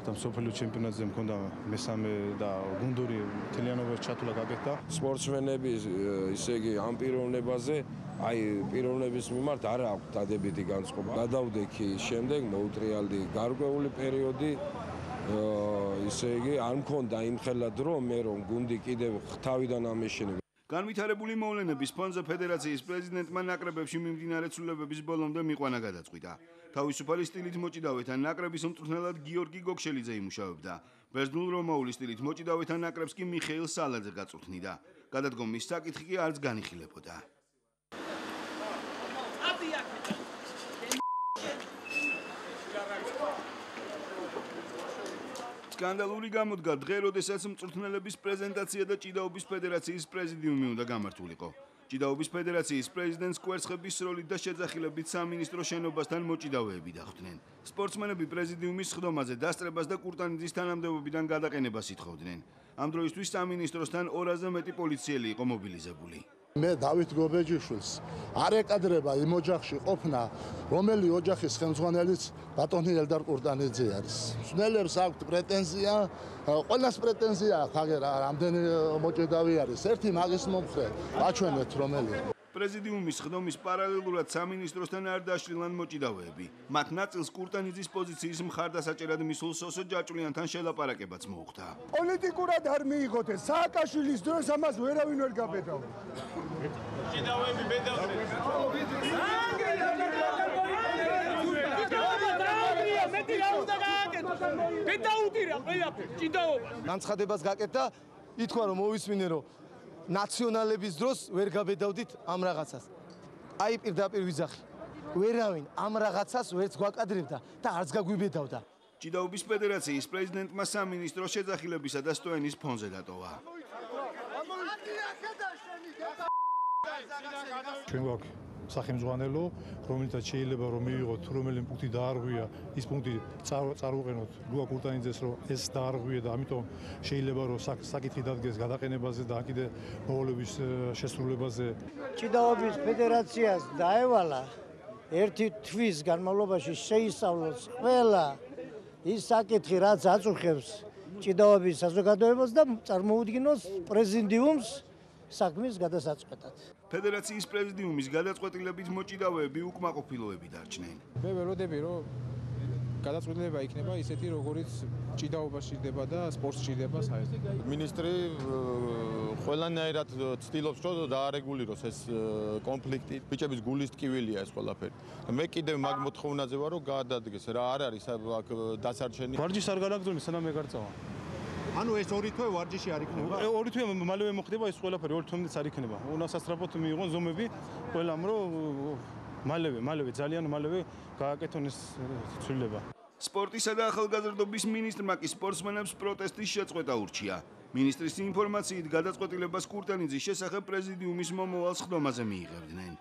და მსოფლიო ჩემპიონატზე მქონდა მესამე და გუნდური თლიანობაში ჩათვლა გაკეთდა. სპორტსმენები ისე იგი ამ პიროვნებაზე, აი პიროვნების მიმართ არ აქვს დადებითი განწყობა. გადავდექი შემდეგ მოუტრიალდი გარკვეული პერიოდი ისე იგი არ მქონდა იმხელა დრო მე რომ გუნდი კიდევ თავიდან ამეშინე. განვითარებული მოვლენების ფონზე ფედერაციის პრეზიდენტმა ნაკრებებში მიმდინარე ცვლილებების ბოლომდე მიყვანა გადაწყვიტა. თავისუფალი სტილით მოჭიდავეთა ნაკრების მწვრთნელად გიორგი გოგშელიძე იმუშავებდა. ბერძნულ-რომაული სტილით მოჭიდავეთა ნაკრებს კი მიხეილ სალაძე გაწვრთნიდა. გადადგომის საკითხი კი არც განიხილებოდა. სკანდალური გამოდგა დღე, როდესაც მწვრთნელების პრეზენტაცია და ჭიდაობის ფედერაციის პრეზიდიუმი უნდა გამართულიყო. ჭიდაობის ფედერაციის პრეზიდენტს კვერცხების სროლით და შეძახილებით სამინისტრო შენობასთან მოჭიდავეები დახვდნენ. სპორტსმენები პრეზიდიუმის სხდომაზე დასწრებას და კურტანიძის თანამდებობიდან გადაყენებას ითხოვდნენ. ამ დროისთვის სამინისტროსთან 200-ზე მეტი პოლიციელი იყო მობილიზებული. მე დავით გობეჯიშვილს არ ეკადრება იმ ოჯახში ყოფნა, რომელი ოჯახის ხელმძღვანელიც ბატონი ელდარ კურტანიძე არის. მცნელებს აქვთ პრეტენზია, ყველას პრეტენზია აქვს, აგერა რამდენი მოჭიდავე არის. ერთი მაგის მომხრე აჩვენეთ რომელია. პრეზიდიუმის სხდომის პარალელურად სამინისტროსთან არ დაშლილან მოჭიდავეები. მათ ნაწილს კურტანიძის პოზიციის მხარდასაჭერად მისულ სოსო ჯაჭვლიანთან შელაპარაკებაც მოუხდა. პოლიტიკურად არ მიიღოთ ეს სააკაშვილის დროს ამას ვერავინ ვერ გაბედავდა. ჭიდავეები ბედავდნენ. მეტი რა უნდა გააკეთო? ბედაუტირა ყველაფერს ჭიდაობა. განცხადებას გაკეთდა, ითქვა რომ მოვისმინე რომ ნაციონალების დროს ვერ გაბედავდით ამ რაღაცას. აი პირდაპირ ვიძახი. ვერავინ ამ რაღაცას ვერც გვაკადრებდა და არც გაგვიბედავდა. ჭიდაობის ფედერაციის პრეზიდენტმა სამინისტრო შეძახილებისა და სტოენის ფონზე დატოვა. ჩვენ გვაქვს სახელმძღვანელო, რომელთაც შეიძლება რომ მივიღოთ რომელი პუნქტი დაარღვია, ის პუნქტი წარუყენოთ ლუკა კურტანიძეს, რომ ეს დაარღვია და ამიტომ შეიძლება რომ საკითხი დადგეს გადაყენებაზე და კიდე მოვალეობის შესრულებაზე. ჭიდაობის ფედერაციას დაევალა ერთი თვის განმავლობაში შეისწავლოს ყველა ის საკითხი, რაც აწუხებს ჭიდაობის საზოგადოებას და წარმოუდგინოს პრეზიდიუმს საქმის გადასაწყვეტად. ფედერაციის პრეზიდიუმის გადაწყვეტილებით მოჭიდავეები უკმაყოფილოები დარჩნენ. მე ველოდები რომ გადაწყვეტილება იქნება ისეთი, როგორიც ჭიდაობა სჭირდება და სპორტს სჭირდება საერთოდ. მინისტრი ყველანაირად ცდილობს, რომ დაარეგულიროს ეს კონფლიქტი. ბიჭების გულის ტკივილია ეს ყველაფერი. მე კიდევ მაგ მოთხოვნაზე ვარ, რომ გაადადგეს რა არ არის აქ დასარჩენი. ვარჯიშს არ განაგრძობენ, სანამ მე გარწავა. ანუ ეს ორი თვე ვარჯიში არ იქნება? ორი თვე მალევე მოხდება ეს ყველაფერი, ორი თვემდეც არ იქნება. უნასასწრაფოდ მიიღონ ზომები ყველამ, რომ მალევე ძალიან მალევე გააკეთონ ეს ცვლილება. სპორტისა და ახალგაზრდობის მინისტრმა კი სპორტსმენებს პროტესტის შეწყვეტა ურჩია. მინისტრის ინფორმაციით გადაწყვეტილებას კურტანიძის შესახებ პრეზიდიუმის მომავალ სხდომაზე მიიღებდნენ.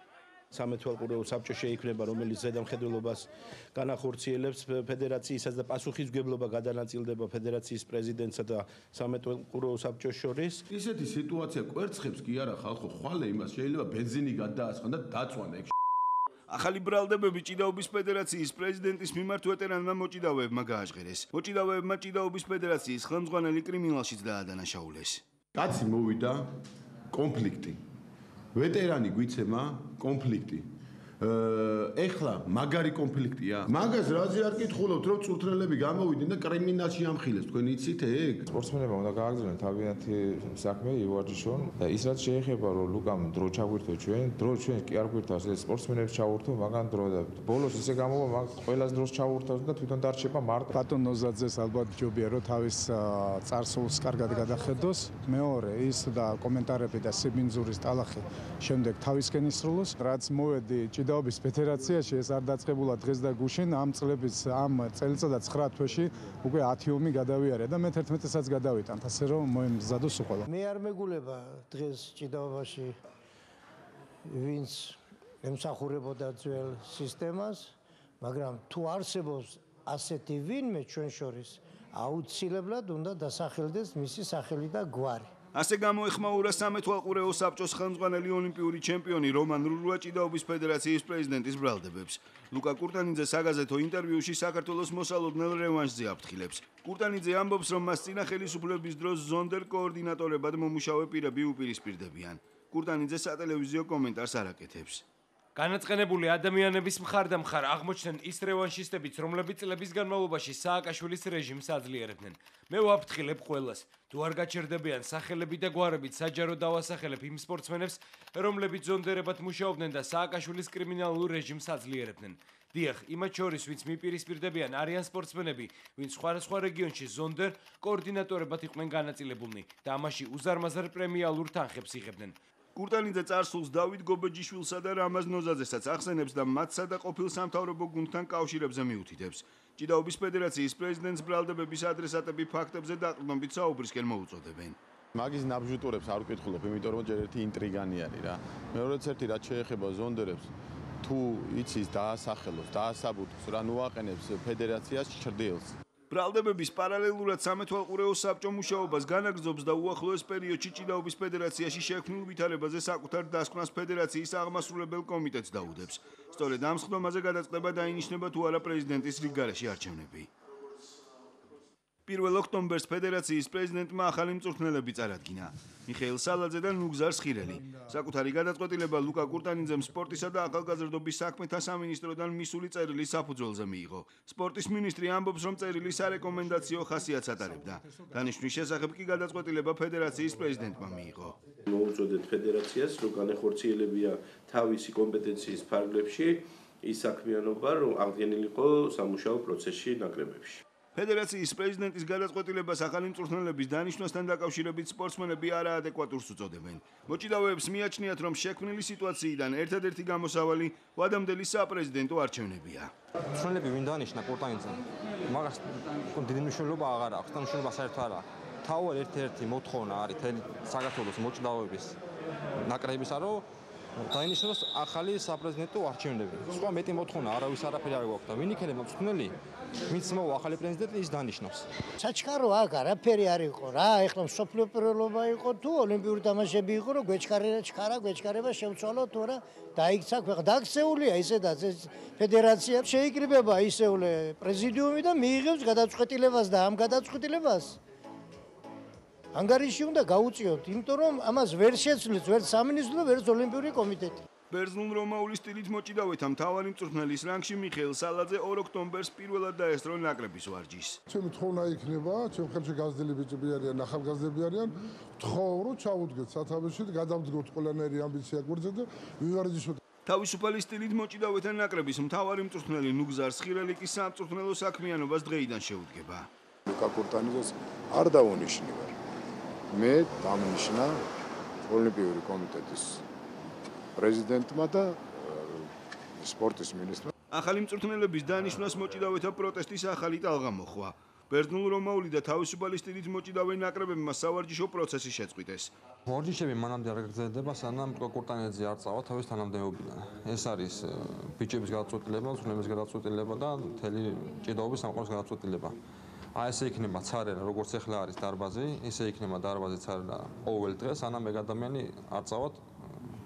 სამეთვალყურეო საბჭო შეიქმნება, რომელიც ზედამხედველობას განახორციელებს ფედერაციისას და პასუხისმგებლობა გადანაწილდება ფედერაციის პრეზიდენტსა და სამეთვალყურეო საბჭოს შორის. ისეთი სიტუაცია კვერცხებს კი არა ხალხო, ხვალე იმას შეიძლება ბენზინი გადაასხან და დაწვანა ეგ. ახალი ბრალდებები ჭიდაობის ფედერაციის პრეზიდენტის მიმართ ვეტერანმა მოჭიდავეებმა გააჟღერეს. მოჭიდავეებმა ჭიდაობის ფედერაციის ხელმძღვანელი კრიმინალშიც დაადანაშაულეს. კაცი მოვიდა კონფლიქტი. ვეტერანი გვიცემა კონფლიქტი. ეხლა მაგარი კონფლიქტია. მაგას რაზე არ კითხულობთ, რომ წურთნელები გამოვიდნენ და კრიმინალში ამხილეს, თქვენ იცით ეგ? სპორტსმენებმა უნდა გააგრძელონ თავიანთი საქმე ივარჯიშონ და ის რაც შეეხება რომ ლუკამ დრო ჩაგვირთო ჩვენ კი არ გვირთავს ეს სპორტსმენებს ჩაურთო მაგან დრო და ბოლოს ისე გამოვა მაგ ყველას დროს ჩაურთავს და თვითონ დარჩება მარტო. ბატონ ნოზაძეს ალბათ ჯობია რომ თავის წარსულს კარგად გადახედოს. მეორე ის და კომენტარები და სიბინძურის ტალახი შემდეგ თავისკენ ისრულოს. რაც მოვედი ჭიდაობის ფედერაციაში ეს არ დაწყებულა დღეს და გუშინ ამ წლების ამ წელიწადად 9 თვეში უკვე 10 ომი გადავიარე და მე 11-საც გადავიტანთ ასე რომ მოემზადოს უყოლა. მე არ მეგულება დღეს ჭიდაობაში ვინც ემსახურებოდა ძველ სისტემას, მაგრამ თუ არსებობს ასეთი ვინმე ჩვენ შორის, აუცილებლად უნდა დასახელდეს მისი სახელი და გვარი. ასე გამოეხმაურა სამეთვალყურეო საბჭოს ხელმძღვანელი ოლიმპიური ჩემპიონი რომან რურუა ჭიდაობის ფედერაციის პრეზიდენტის ბრალდებებს. ლუკა კურტანიძე საგაზეთო ინტერვიუში საქართველოს მოსალოდნელ რევანშზე აფრთხილებს. კურტანიძე ამბობს, რომ მას წინა ხელისუფლების დროს ზონდერ კოორდინატორებად მომუშავე პირები უპირისპირდებიან. კურტანიძე სატელევიზიო კომენტარს არ აკეთებს. განაწყენებული ადამიანების მხარდამხარ აღმოჩნდნენ ის რევანშისტებიც, რომლებიც წლების განმავლობაში სააკაშვილის რეჟიმს აძლიერებდნენ. მე ვაფრთხილებ ყველას, თუ არ გაჩერდებიან სახელები და გვარებით, საჯარო დავასახელებ იმ სპორტსმენებს, რომლებიც ზონდერებად მუშაობდნენ და სააკაშვილის კრიმინალურ რეჟიმს აძლიერებდნენ. დიახ, იმათ შორის, ვინც მიპირისპირდებიან, არიან სპორტსმენები, ვინც სხვადასხვა რეგიონში ზონდერ კოორდინატორებად იყვნენ განაწილებულნი და ამაში უზარმაზარ პრემიალურ თანხებს იღებდნენ. კურტანიძე წარსულს დავით გობეჯიშვილსა და რამაზ ნოზაძესაც ახსენებს და მათსა და ყოფილ სამთავრობო გუნდთან კავშირებზე მიუთითებს. ჭიდაობის ფედერაციის პრეზიდენტს ბრალდებების ადრესატები ფაქტებზე დაყრდნობით საუბრისკენ მოუწოდებენ. მაგის ნაბჟუტურებს არ ვკითხულობ, იმიტომ რომ ჯერ ერთი ინტრიგანი არის რა. მეორეც ერთი რაც შეეხება ზონდერებს, თუ იცის დაასახელოს, დაასაბუთოს, რა ნუაყენებს ფედერაციას ჩრდილს. ბრალდებების პარალელურად სამეთვალყურეო საბჭო მუშაობას განაგრძობს და უახლოეს პერიოდში ჭიდაობის ფედერაციაში შექმნილ ვითარებაზე საკუთარ დასკვნას ფედერაციის აღმასრულებელ კომიტეტს დაუდებს. სწორედ ამ სხდომაზე გადაწყდება დაინიშნება თუ არა პრეზიდენტის რიგგარეშე არჩევნები. 1 ოქტომბერს ფედერაციის პრეზიდენტმა ახალი მწვრთნელები წარადგინა. მიხეილ სალაძე და ნუგზარ სხირელი. საკუთარი გადაწყვეტილება ლუკა კურტანიძემ სპორტისა და ახალგაზრდობის საქმეთა სამინისტროდან მისული წერილი საფუძველზე მიიღო. სპორტის მინისტრი ამბობს, რომ წერილი სარეკომენდაციო ხასიათს ატარებდა. დანიშვნის შესახებ კი გადაწყვეტილება ფედერაციის პრეზიდენტმა მიიღო. მოუწოდეთ ფედერაციას, რომ განახორციელებია თავისი კომპეტენციის ფარგლებში ის საქმიანობა, რომ აღდგენილიყო სამუშაო პროცესში ნაკრებებში. ფედერაციის პრეზიდენტის გადაწყვეტილებას ახალი მწვრთნელების დანიშვნასთან დაკავშირებით სპორტსმენები არაადეკვატურს უწოდებენ. მოჭიდავეებს მიაჩნიათ, რომ შექმნილი სიტუაციიდან ერთადერთი გამოსავალი ვადამდელი საპრეზიდენტო არჩევნებია. მწვრთნელები ვინ დანიშნა კურტანიძემ? მაგას დიდი მნიშვნელობა აღარ აქვს, და მნიშვნელობა საერთოდ არა. თავად ერთ-ერთი მოთხოვნა არის თელი საქართველოს მოჭიდავეების ნაკრებისა, რომ დაინიშნოს ახალი საპრეზიდენტო არჩევნები. სხვა მეტი მოთხოვნა არავის არაფერი არ გვაქვს და ვინ იქნება მწვრთნელი? ვინც მოვა ახალი პრეზიდენტი ის დანიშნავს. საჩქარო აქ არაფერი არ იყო რა, ეხლა მსოფლიო პირველობა იყო თუ ოლიმპიური თამაშები იყო, რომ გვეჩქარება შევცვალო თუ არა, დაიქცა ქვეყანა. დაქცეულია ისედაც ეს ფედერაცია შეიკრიბება ისეულე პრეზიდიუმი და მიიღებს გადაწყვეტილებას და ამ გადაწყვეტილებას ანგარიში უნდა გაუწიოთ, იმიტომ რომ ამას ვერ შეცვლის ვერც სამინისტრო, ვერც ოლიმპიური კომიტეტი. ბერძნულ-რომაული სტილით მოჭიდავეთა მთავარი მწვრთნელის რანგში მიხეილ სალაძე 2 ოქტომბერს პირველად დაესწრო ნაკრების ვარჯიშს. ჩემი თხოვნა იქნება, ჩემ ხელში გაზრდილი ბიჭები არიან, ახალგაზრდები არიან, ვთხოვ რომ ჩავუდგეთ სათავეში და გადავდგოთ ყველანაირი ამბიცია გვერდზე და ვივარჯიშოთ. თავისუფალი სტილით მოჭიდავეთა ნაკრების მთავარი მწვრთნელი ნუგზარ სხირელი კი სამწვრთნელო საქმიანობას დღეიდან შეუდგება. ლუკა კურტანიძეს არ დავუნიშნივარ. მე დამნიშნა ოლიმპიური კომიტეტის პრეზიდენტმა და სპორტის მინისტრმა. ახალი მწვრთნელების დანიშვნას მოჭიდავეთა პროტესტის ახალი ტალღა მოხვა. ბერძნულ-რომაული და თავისუფალი სტილით მოჭიდავე ნაკრებებმა სავარჯიშო პროცესი შეწყვიტეს. ვარჯიშები მანამდე არ გაგრძელდება, სანამ კურტანიძე არ წავა თავის თანამდებობიდან. ეს არის ბიჭების გადაწყვეტილება, მწვრთნელების გადაწყვეტილება და მთელი ჭიდაობის სამყაროს გადაწყვეტილება. აი ესე იქნება ცარერა, როგორც ახლა არის დარბაზი, ისე იქნება დარბაზი ცარერა ყოველ დღეს, სანამ ეგ ადამიანი არ წავა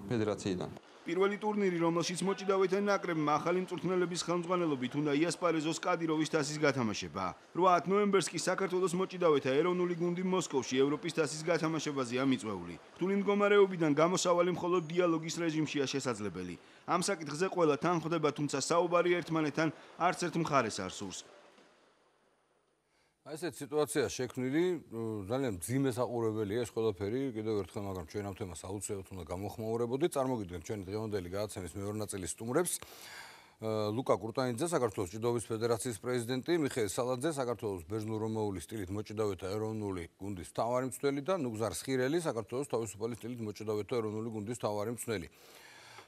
ფედერაციიდან. პირველი ტურნირი, რომელშიც მოჭიდავეთა ნაკრებმა ახალი მწვრთნელების ხელმძღვანელობით უნდა იასპარეზოს კადიროვის თასის გათამაშება. 8 ნოემბერს კი საქართველოს მოჭიდავეთა ეროვნული გუნდი მოსკოვში ევროპის თასის გათამაშებაზეა მიწვეული. რთული მდგომარეობიდან გამოსავალი მხოლოდ დიალოგის რეჟიმშია შესაძლებელი. ამ საკითხზე ყველა თან ხვდება, თუმცა საუბარი ერთმანეთთან არც ერთ მხარეს არ სურს. აი ესეთ სიტუაცია შექმნილი, ძალიან მძიმე საყურებელია ეს ყველაფერი, კიდევ ერთხელ, მაგრამ ჩვენ ამ თემას აუცილებლად უნდა გამოხმაურებოდეთ. წარმოგიდგენთ ჩვენი დღევანდელი გადაცემის მეორე ნაწილის სტუმრებს. ლუკა კურტანიძე, საქართველოს ჭიდაობის ფედერაციის პრეზიდენტი, მიხეილ სალაძე, საქართველოს ბერძნულ-რომაული სტილით მოჭიდავეთა ეროვნული გუნდის მთავარი მწვრთნელი და ნუგზარ სხირელი, საქართველოს თავისუფალი სტილით მოჭიდავეთა ეროვნული გუნდის მთავარი მწვრთნელი.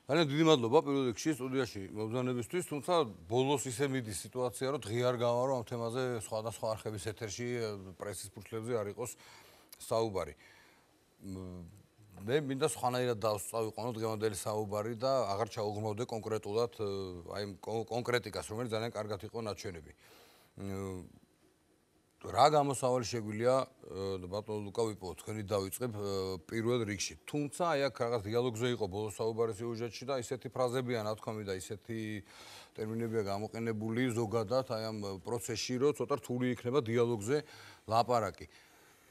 ძალიან დიდი მადლობა პირველ რიგში სტუდიაში მობრძანებისთვის, თუმცა ბოლოს ისე მიდის სიტუაცია, რომ დღეარ გავარო ამ თემაზე სხვადასხვა არხების ეთერში პრესის ფურცლებზე არ იყოს საუბარი. მე მინდა სხვანაირად დავსწავიყვანო დღევანდელი საუბარი და აღარ ჩაუღრმავდე კონკრეტულად აი კონკრეტიკას, რომელიც ძალიან კარგად იყო ნაჩვენები. რა გამოსავალი შეგვიძლია ბატონო ლუკა ვიპოვოთ, თქვენი დავიწყებ პირველ რიგში. თუმცა აი აქ რაღაც დიალოგზე იყო ბოლოს საუბარი სიუჟეტში და ისეთი ფრაზებია ნათქვამი და ისეთი ტერმინებია გამოყენებული ზოგადად აი ამ პროცესში, რომ ცოტა რთული იქნება დიალოგზე ლაპარაკი.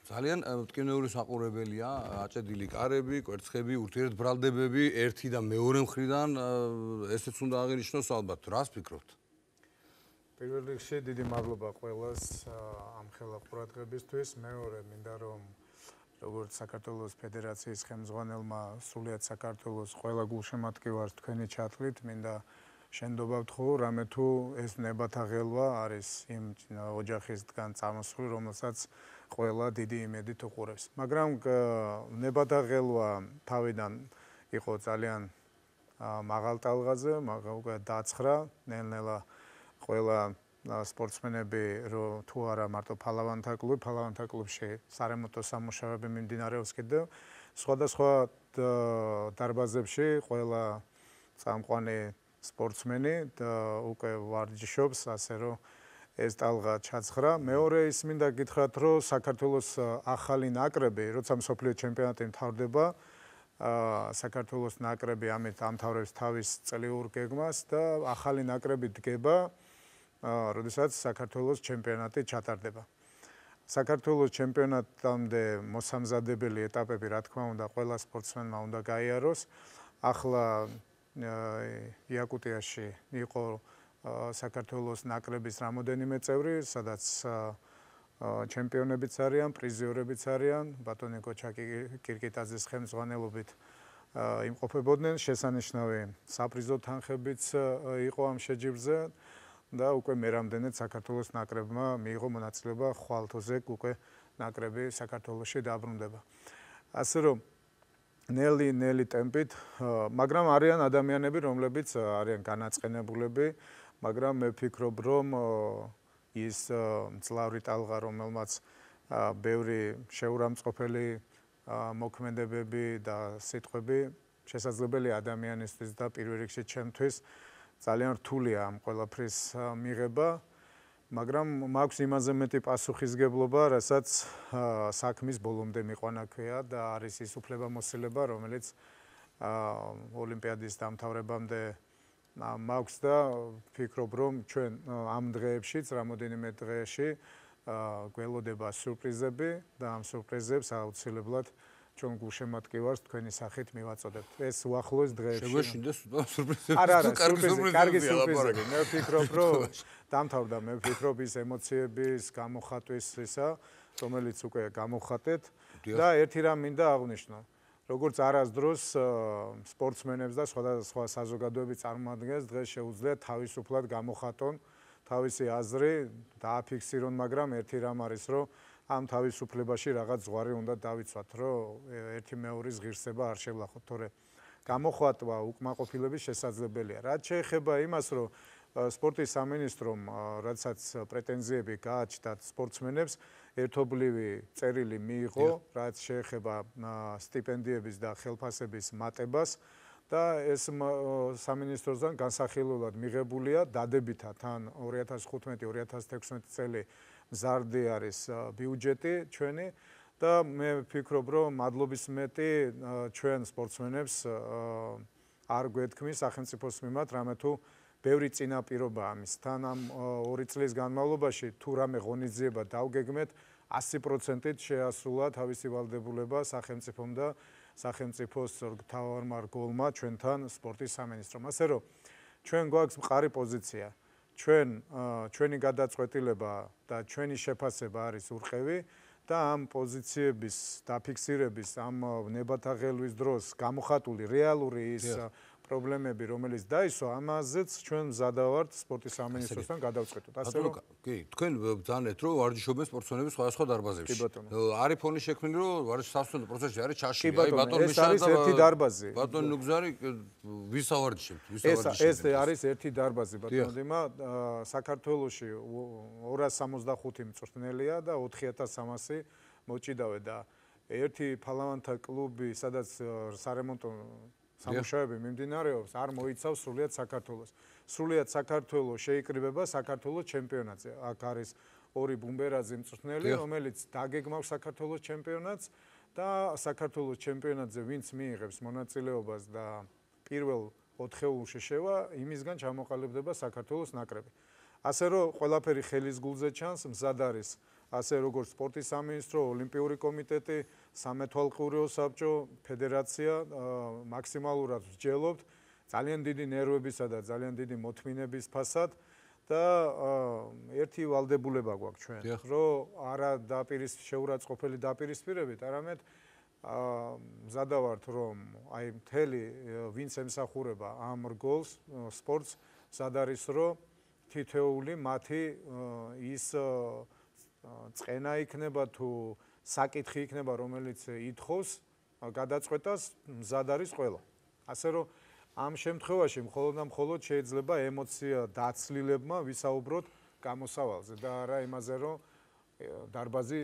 ძალიან მტკივნეული საყურებელია, აჭედილი კარები, კვერცხები, ურთიერთბრალდებები ერთი და მეორე მხრიდან ესეც უნდა აღინიშნოს ალბათ. რას ფიქრობთ? პირველ რიგში დიდი მადლობა ყველას ამ ხელა ყურადღებისთვის. მეორე მინდა რომ როგორც საქართველოს ფედერაციის ხელმძღვანელმა სრულიად საქართველოს ყველა გულშემატკივარს თქვენი ჩათვლით მინდა შენდობა ვთხოვ, რამე თუ ეს ნებათა ღელვა არის იმ ოჯახისგან წამოსული, რომელსაც ყველა დიდი იმედით უყურებს. მაგრამ ნებათა ღელვა თავიდან იყო ძალიან მაღალ ტალღაზე, მაგრამ უკვე დაცხრა ნელ-ნელა ყველა სპორტსმენები რო თუ არა მარტო ფალავანთა კლუბში სარემონტო სამუშაოები მიმდინარეობს კიდევ სხვადასხვა დარბაზებში ყველა წამყვანი სპორტსმენი უკვე ვარჯიშობს, ასე რომ ეს ტალღა ჩაცხრა. მეორე ის მინდა გითხრათ, რომ საქართველოს ახალი ნაკრები, როცა მსოფლიო ჩემპიონატი მთავრდება, საქართველოს ნაკრები ამით ამთავრებს თავის წლიურ გეგმას და ახალი ნაკრები დგება, როდესაც საქართველოს ჩემპიონატი ჩატარდება. საქართველოს ჩემპიონატამდე მოსამზადებელი ეტაპები, რა თქმა უნდა, ყველა სპორტსმენმა უნდა გაიაროს. ახლა იაკუტიაში იყო საქართველოს ნაკრების რამოდენიმე წევრი, სადაც ჩემპიონებიც არიან, პრიზიორებიც არიან, ბატონი კოჩაკი კირკიტაძის ხელმძღვანელობით იმყოფებოდნენ, შესანიშნავი საპრიზო თანხებიც იყო ამ შეჯიბრზე და უკვე მერამდენეთ საქართველოს ნაკრებმა მიიღო მონაწილეობა ხვალთოზე უკვე ნაკრები საქართველოში დაბრუნდება. ასე რომ ნელი ტემპით, მაგრამ არიან ადამიანები, რომლებიც არიან განაწყენებულები, მაგრამ მე ვფიქრობ, რომ ის მძლავრი ტალღა, რომელმაც ბევრი შეურამწყყოფელი მოქმედებები და სიტყვები შესაძლებელი ადამიანისთვის და პირველ რიგში ჩემთვის ძალიან რთულია ამ ყველაფრის მიღება, მაგრამ მაქვს იმაზე მეტი პასუხისგებლობა, რასაც საქმის ბოლომდე მიყვანა ქვია და არის ის უფლებამოსილება, რომელიც ოლიმპიადის დამთავრებამდე მაქვს და ვფიქრობ, რომ ჩვენ ამ დღეებშიც, რამოდენიმე დღეში გველოდება სიურპრიზები და ამ სიურპრიზებს აუცილებლად ჩვენ გულშემატკივარს თქვენი სახით მივაწოდებთ. ეს უახლოეს დღეებში. შეგვეშინდეს სურპრიზები. არა, კარგი სურპრიზები. მე ვფიქრობ, რომ დამთავრდა, მე ვფიქრობ ის ემოციების გამოხატვის ისა, რომელიც უკვე გამოხატეთ და ერთი რამ მინდა აღვნიშნო. როგორც არასდროს სპორტსმენებს და სხვადასხვა საზოგადოების წარმოადგენს დღეს შეუძლიათ თავისუფლად გამოხატონ თავისი აზრი, დააფიქსირონ, მაგრამ ერთი რამ არის, რომ ამ თავისუფლებაში რაღაც ზღვარი უნდა დავიცვათ, რომ ერთი მეორის ღირსება არ შევლახოთ, თორე გამოხატვა უკმაყოფილების შესაძლებელია. რაც შეეხება იმას, რომ სპორტის სამინისტრომ როდესაც პრეტენზიები გააჩნდათ სპორტსმენებს, ერთობლივი წერილი მიიღო, რაც შეეხება სტიპენდიების და ხელფასების მატებას და ეს სამინისტროსგან განსახილველად მიღებულია დადებითად თან 2015-2016 წელი მზარდი არის ბიუჯეტი ჩვენი და მე ვფიქრობ, რომ მადლობის მეტი ჩვენ სპორტსმენებს არ გვეთქმის სახელმწიფოს მიმართ, რამე თუ ბევრი წინაპირობა ამის. თან ამ 2 წლის განმავლობაში თუ რამე ღონისძიება დავგეგმეთ, 100%-ით შეასრულა თავისი ვალდებულება სახელმწიფომ და სახელმწიფოს მთავარმა რგოლმა ჩვენთან სპორტის სამინისტრომ. ასე რომ ჩვენ გვაქვს მყარი პოზიცია. ჩვენი გადაწყვეტილება და ჩვენი შეფასება არის ურყევი და ამ პოზიციების დაფიქსირების, ამ ნებათაღელვის დროს გამოხატული რეალური ის პრობლემები, რომელიც დაისვა, ამაზეც ჩვენ მზადავართ სპორტის სამინისტროსთან გადავწყვეტოთ. ასე რომ კი, თქვენ ბრძანეთ, რომ ვარჯიშობენ სპორტსმენები სხვადასხვა დარბაზებში. არის ფონი შექმნილი, რომ ვარჯიშის სასწავლო პროცესში არის ჩაშლილი. აი ბატონ მიშა და ერთი დარბაზი. ბატონ ნუგზარი ვის ავარჯიშებთ? ეს არის ერთი დარბაზი ბატონ დიმა. საქართველოში 265 მწვრთნელია და 4300 მოჭიდავე და ერთი ფალავანთა კლუბი, სადაც სარემონტო სამუშაოები მიმდინარეობს, არ მოიცავს სრულიად საქართველოს. სრულიად საქართველოს შეიკრიბება საქართველოს ჩემპიონატზე. აქ არის 2 ბუმბერაძე მწვრთნელი, რომელიც დაგეგმავს საქართველოს ჩემპიონატს და საქართველოს ჩემპიონატზე ვინც მიიღებს მონაწილეობას და პირველ 4-ეულში შევა, იმისგან ჩამოყალიბდება საქართველოს ნაკრები. ასე რომ ყველაფერი ხელის გულზე ჩანს, მზად არის ასე როგორც სპორტის სამინისტრო, ოლიმპიური კომიტეტი, სამეთვალყურეო საბჭო, ფედერაცია მაქსიმალურად ვსჯელობთ ძალიან დიდი ნერვებისა და ძალიან დიდი მოთმინების ფასად და ერთი ვალდებულება გვაქვს ჩვენ, რომ არა შეურაცხყოფელი დაპირისპირებით, არამედ მზადავართ, რომ აი მთელი ვინც ემსახურება ამ რგოლს სპორტს, მზად არის, რომ თითოეული მათი ის წენა იქნება თუ საკითხი იქნება, რომელიც ითხოვს გადაწყვეტას, მზად არის ყველა. ასე რომ ამ შემთხვევაში მხოლოდ შეიძლება ემოცია დაცლილებმა ვისაუბროთ გამოსავალზე და არა იმაზე, რომ დარბაზი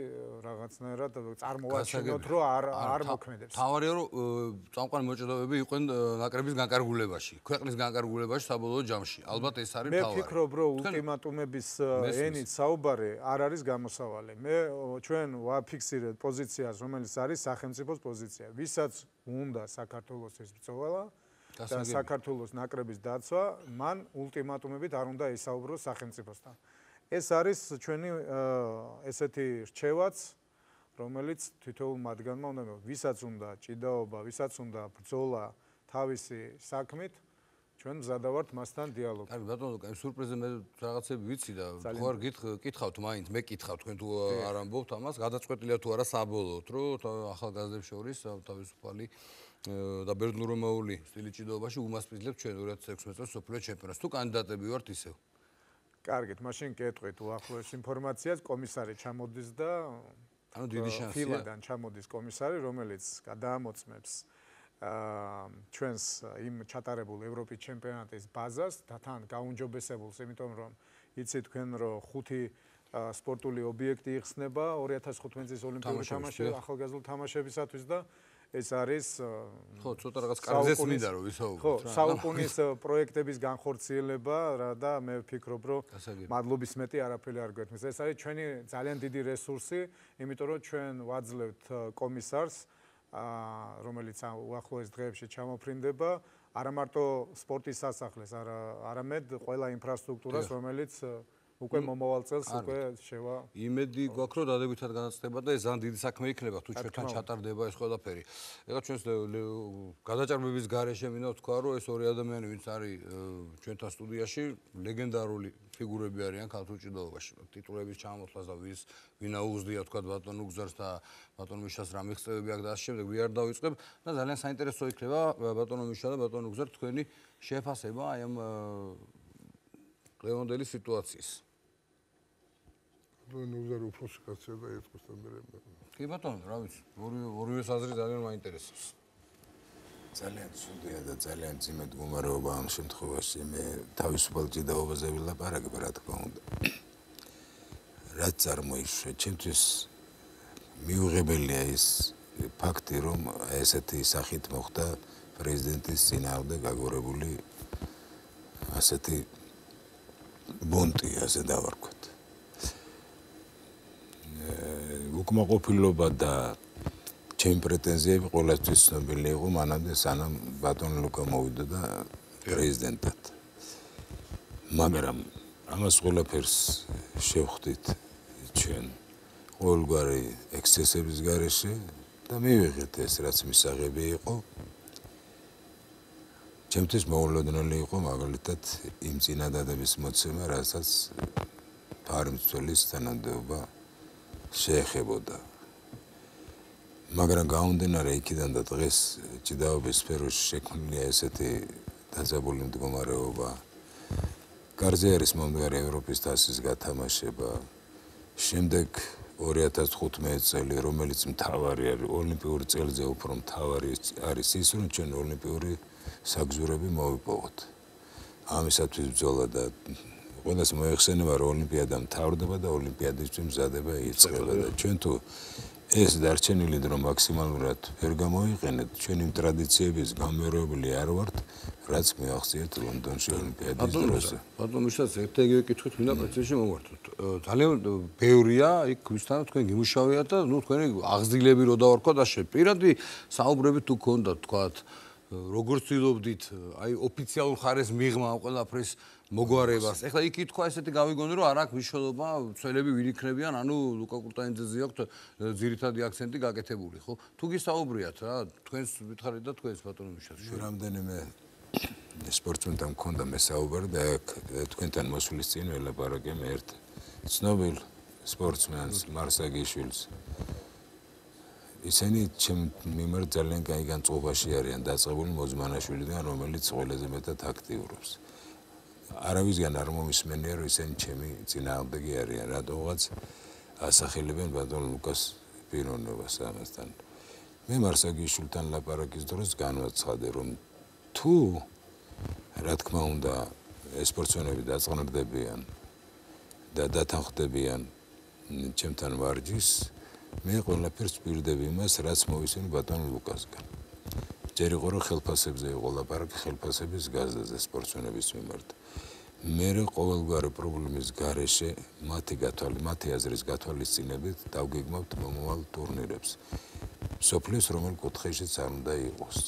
რაღაცნაირად წარმოვაჩინოთ, რომ არ მოქმედებს. თავარია, რომ წამყვანი მოჭედავეები იყვნენ ნაკრების განკარგულებაში, ქვეყნის განკარგულებაში საბოლოო ჯამში. ალბათ ეს არის თავარი. მე ვფიქრობ, რომ ულტიმატუმების ენით საუბარი არ არის გამოსავალი. ჩვენ ვაფიქსირეთ პოზიციას, რომელიც არის სახელმწიფოს პოზიცია. ვისაც უნდა საქართველოს ბრძოლა და საქართველოს ნაკრების დაცვა, მან ულტიმატუმებით არ უნდა ისაუბროს სახელმწიფოსთან. ეს არის ჩვენი ესეთი რჩევაც, რომელიც თითოეულ მათგანმა უნდა მივიღოს. ვისაც უნდა ჭიდაობა, ვისაც უნდა ბრძოლა თავისი საქმით, ჩვენ მზადავართ მასთან დიალოგს. კარგი ბატონო, აი სურპრიზზე მე რაღაცები ვიცი და ხوار გითხავთ მაინც, მე კითხავ თქვენ თუ არ ამბობთ ამას, გადაწყვეტილია თუ არა საბოლოოდ, რომ ახალგაზრდებს შორის თავისუფალი და ბერძნულომაული სტილი ჭიდაობაში უმასპინძლებს ჩვენ 2016 წელს სოფლიო ჩემპიონატს. თუ კანდიდატები ვართ ისევ. კარგით, მაშინ კეთყვით უახლოეს ინფორმაციას, კომისარი ჩამოდის და ანუ დიდი შანსია. ფილადან ჩამოდის კომისარი, რომელიც გადაამოწმებს ჩვენს იმ ჩატარებულ ევროპის ჩემპიონატის ბაზას და თან გაუნჯობესებულს, იმიტომ რომ იცით თქვენ, რომ 5 სპორტული ობიექტი იხსნება 2015 წლის ოლიმპიური თამაშები, ახალგაზრდულ თამაშებისათვის და ეს არის ხო, ცოტა რაღაც კარგზეს მინდა რომ ვისაუბროთ. ხო, საუკუნის პროექტების განხორციელება და მე ვფიქრობ, რომ მადლობის მეტი არაფერი არ გვეთმის. ეს არის ჩვენი ძალიან დიდი რესურსი, იმიტომ რომ ჩვენ ვაძლევთ კომისარს, რომელიც უახლოეს დღეებში ჩამოფრინდება, არა მარტო სპორტის სასახლეს, არამედ ყველა ინფრასტრუქტურას, რომელიც უკვე მომავალ წელს უკვე შევა იმედი გვაქვს რომ დადებითად განაცდება და ეს ძალიან დიდი საქმე იქნება თუ ჩვენთან ჩატარდება ეს ყველაფერი. ეხლა ჩვენს გადაჭარბების გარეშე მინდა ვთქვა რომ ეს ორი ადამიანი ვინც არის ჩვენთან სტუდიაში ლეგენდარული ფიგურები არიან ქართულ ჭიდაობაში. ტიტულების ჩამოსვლას და ვინ აუგზდია თქვა ბატონ უგზარს და ბატონ მიშას რა მიღწევები აქვს და ამ შემდეგ ვიარ დავიწყებ და ძალიან საინტერესო იქნება ბატონ მიშა და ბატონ უგზარ თქვენი შეფასება აი ამ დღევანდელი სიტუაციის. ნუზარ უფროსი კაცია და ერთყოს თანდერები. კი ბატონო, რა ვიცი, ორივე საზრი ძალიან მაინტერესებს. ძალიან სუნდია და ძალიან ძიმე მდგომარეობა ამ შემთხვევაში მე თავისუფალ ჭიდაობაზე ვილაპარაკებ რა თქმა უნდა. რაც წარმოიშვა, ჩემთვის მიუღებელია ის ფაქტი, რომ ესეთი სახით მოხდა პრეზიდენტის წინააღმდეგ აგორებული ასეთი ბონტი, ასე დავარქვათ. უკმაყოფილება და ჩემი პრეტენზიები ყველასთვის ცნობილი იყო მანამდე სანამ ბატონ ლუკა მოვიდა და პრეზიდენტად. მაგრამ ამას ყველაფერს შევხვდით ჩვენ ყოველგვარი ექსცესების გარეშე და მივიღეთ ეს რაც მისაღები იყო. ჩემთვის მოულოდნელი იყო მაგალითად იმ წინადადების მოცემა, რასაც ფარმცველის თანამდებობა შეეხებოდა. მაგრამ გამომდინარე იქიდან და დღეს ჭიდაობის სფეროში შექმნილია ესეთი დაძაბული მდგომარეობა. გარზე არის მომდგარი ევროპის თასის გათამაშება. შემდეგ 2015 წელი, რომელიც მთავარი არის ოლიმპიური წელზე უფრო მთავარი არის ის, რომ ჩვენ ოლიმპიური საგზურები მოვიპოვოთ. ამისათვის ბრძოლა და ყველას მოეხსენება რომ ოლიმპიადა მთავრდება და ოლიმპიადისთვის მზადება იწყება და ჩვენ თუ ეს დარჩენილი დრო მაქსიმალურად ვერ გამოიყენეთ, ჩვენ იმ ტრადიციების გამეორებული არ ვართ, რაც მიაღწიეთ ლონდონში ოლიმპიადის დროზე. ბატონო მიშას ერთ ეგრე კითხვით მინდა პრეცედენტში მოვართოთ. ძალიან ბევრია იქ ვისთან თქვენ გიმუშავიათ და ნუ თქვენი აღზრდილები რო დავარქვა და პირადი საუბრები თუ გქონდათ თქვათ როგორც ვცდილობდით აი ოფიციალურ ხარეს მიღმა ამ ყველაფრის მოგვარებას. ეხლა იქ ითქვა ესეთი გავიგონე რომ არ აქვს მნიშვნელობა ცველები ვინ იქნებიან, ანუ ლუკა კურტანიძეზე აქვს ძირითადი აქცენტი გაკეთებული, ხო? თუ გისაუბრიათ რა, თქვენს ვითხარით და თქვენს ბატონო მიშას. რამდენიმე სპორტსმენთან მქონდა მესაუბარი და თქვენთან მოსვლის წინ ველაპარაკեմ ერთ ცნობილ სპორტსმენს მარსაგიშვილს. ისინი ჩემ მიმართ ძალიან კაი განწყობაში არიან დაწყებული მოძმანაშვილიდან, რომელიც ყველაზე მეტად აქტიურობს. არავისგან არ მომისმენია, რომ ისინი ჩემი წინააღმდეგი არიან, რატომღაც ასახელებენ ბატონ ლუკას პიროვნებას ამასთან. მე მარსაგიშვილთან ლაპარაკის დროს განვაცხადე, რომ თუ რა თქმა უნდა სპორტსმენები დაწყნარდებიან და დათანხმდებიან ჩემთან ვარჯიშს, მე ყველაფერს ვპირდები იმას, რაც მოვისმენ ბატონ ლუკასგან. ჯერ იყო რომ ხელფასებზე იყო ლაპარაკი, ხელფასების გაზრდაზე სპორტსმენების მიმართ. მე ყოველგვარი პრობლემის გარეშე მათი აზრის გათვალისწინებით დავგეგმავთ მომავალ ტურნირებს. სოფლის რომელ კუთხეშიც არ უნდა იყოს.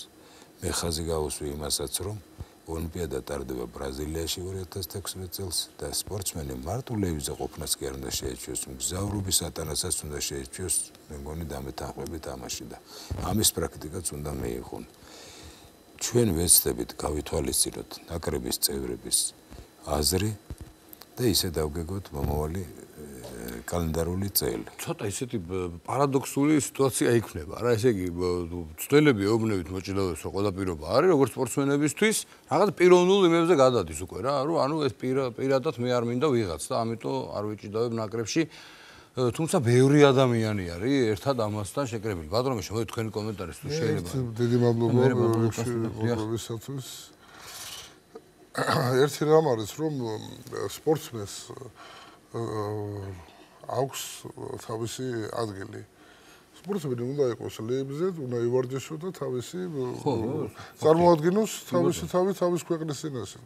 მე ხაზი გავუსვი იმასაც, რომ ოლიმპიადა ტარდება ბრაზილიაში 2016 წელს და სპორტსმენი მარტულევიზე ყოფნას კი არ უნდა შეეჩვიოს, მგზავრობის ატანასაც უნდა შეეჩვიოს, მე მგონი დამეთანხმებით ამაში და ამის პრაქტიკაც უნდა მიიღონ. ჩვენ ვეცდებით გავითვალისწინოთ ნაკრების წევრების აზრი და ისე დავგეგმოთ მომავალი კალენდარული წელი. ცოტა ისეთი პარადოქსული სიტუაცია იქნება, რა ესე იგი ცდელები ეუბნებით მოჭიდავებს რომ ყველა პირობა არის როგორც სპორტსმენებისთვის, რაღაც პიროვნულ იმებზე გადადის უკვე რა, რომ ანუ ეს პირადად მე არ მინდა ვიღაც და ამიტომ არ ვიჭიდავებ ნაკრებში. თუმცა ბევრი ადამიანი არის ერთად ამასთან შეკრებილი. ბატონო მიშა, მოდი თქვენი კომენტარი თუ შეიძლება. დიდი მადლობა მოგესალმებით. ერთი რამ არის რომ სპორტსმენს აქვს თავისი ადგილი. სპორტსმენი უნდა იყოს ლეიბზე, უნდა ივარჯიშოს და თავისი წარმოადგინოს თავისი თავის ქვეყნის წინაშე.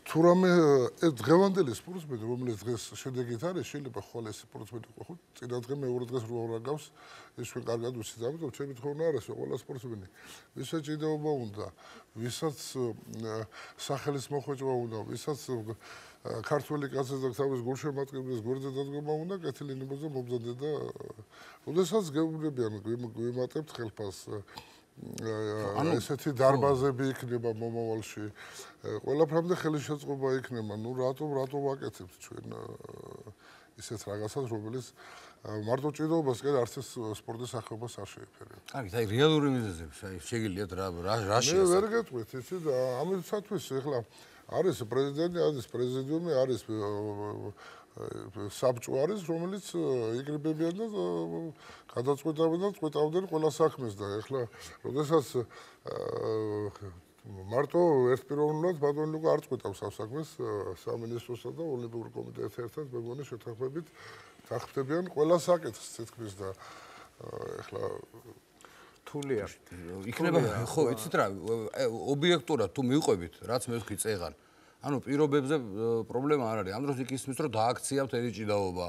თუ რამე დღევანდელი სპორტსმენი, რომელიც დღეს შედეგით არის, შეიძლება ხოლმე სპორტსმენი ხო წინა დღე მეორე დღეს რო რაგავს, ის ჩვენ კარგად ვიცით, ამიტომ ჩემი თხოვნა არის, რომ ყველა სპორტსმენი, ვისაც ჭიდაობა უნდა, ვისაც სახელის მოხვეჭვა უნდა, ვისაც ქართველი კაცის და თავის გულშემატკივრის გვერდზე დადგომა უნდა, კეთილი ნებაზე მომზადდა და ოდესაც გეუბნებიან, გვიმატებთ ხელფას ესეთი დარბაზები იქნება მომავალში. ყველაფრამდე ხელისშეწყობა იქნება. ნუ რატომ ვაკეთებთ ჩვენ ისეთ რაღაცას, რომელიც მარტო ჭიდაობას კი არც ეს სპორტის სახეობას არ შეეფერება. კარგი, აი რეალური მიზეზებს, აი შეგიძლიათ რა მე ვერ გეტყვით, იცით, ამისათვის ეხლა არის პრეზიდენტი, არის პრეზიდიუმი, არის საბჭო არის, რომელიც იკრიბებიან და გადაწყვეტავენ და წყვეტავდნენ ყველა საქმეს და ეხლა როდესაც მარტო ერთპიროვნულად ბატონი ლუკა არ წყვეტავს ამ საქმეს სამინისტროსა და ოლიმპიური კომიტეტთან ერთად მეგონი შეთანხმებით თანხმდებიან ყველა საკითხს თითქმის და ეხლა თულია იქნება ხო იცით რა ობიექტურად თუ მივყვებით რაც მე ვთქვი წეღან ანუ პირობებზე პრობლემა არ არის. ამ დროს იქ ისმის რომ დააქცია მთელი ჭიდაობა.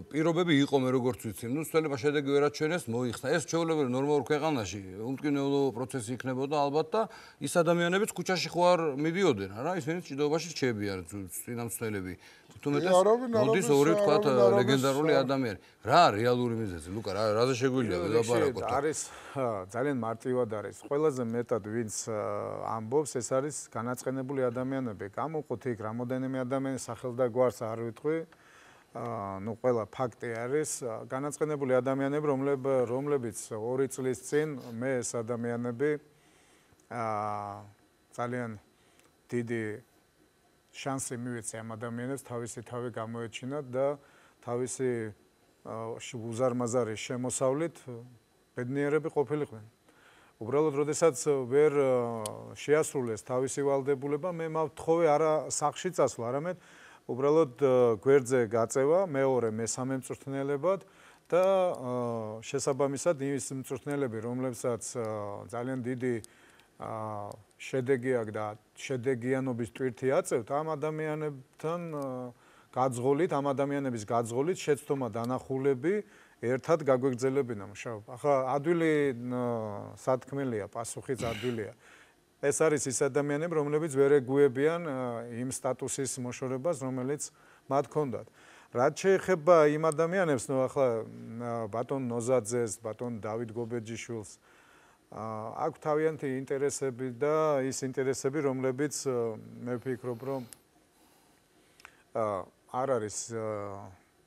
პირობები იყო მე როგორც ვიცი. ნუ სწორება შედეგი ვერაჩვენეს, მოიხსნა. ეს ჩვეულებრივ ნორმალურ ქვეყანაში უმტკივნეულო პროცესი იქნებოდა ალბათ და ის ადამიანებიც ქუჩაში ხო არ მიდიოდნენ, არა? ისინი ჭიდაობაში რჩებიან წინამძღოლები. თუმეტეს მოდის ორი თქვათ ლეგენდარული ადამიანი. რა რეალური მიზეზი? ლუკა რაზე შეგვიძლია ველაპარაკოთ? არის ძალიან მარტივად არის. ყველაზე მეტად ვინც ამბობს, ეს არის განაწყენებული ადამიანები. გამოყვოთ იქ რამოდენიმე ადამიანი სახელს და გვარს არ ვიტყვი. ნუ ყველა ფაქტი არის განაწყენებული ადამიანები, რომლებიც 2 წლის წინ მე ეს ადამიანები ძალიან დიდი შანსი მივეცე ამ ადამიანებს თავისი თავი გამოეჩინათ და თავისი უზარმაზარი შემოსავლით ბედნიერები ყოფილიყვნენ. უბრალოდ, როდესაც ვერ შეასრულეს თავისი ვალდებულება, მე მავთხოვე არა სახლში წასვლა, არამედ უბრალოდ გვერდზე გაწევა მეორე მესამე მწვრთნელებად და შესაბამისად ის მწვრთნელები, რომლებსაც ძალიან დიდი შედეგი აქვს და შედეგიანობის ტვირთი აწევთ, ამ ადამიანებთან გაძღოლით, ამ ადამიანების გაძღოლით შეცდომა დანახულები ერთად გაგვეგრძელებინა მუშაობა. ახლა ადვილი სათქმელია, პასუხიც ადვილია. ეს არის ის ადამიანები, რომლებიც ვერ ეგუებიან იმ სტატუსის მოშორებას, რომელიც მათ ჰქონდათ. რაც შეეხება იმ ადამიანებს, ნუ ახლა ბატონ ნოზაძეს, ბატონ დავით გობეჯიშვილს აქვს თავიანთი ინტერესები და ის ინტერესები, რომლებიც მე ვფიქრობ, რომ არ არის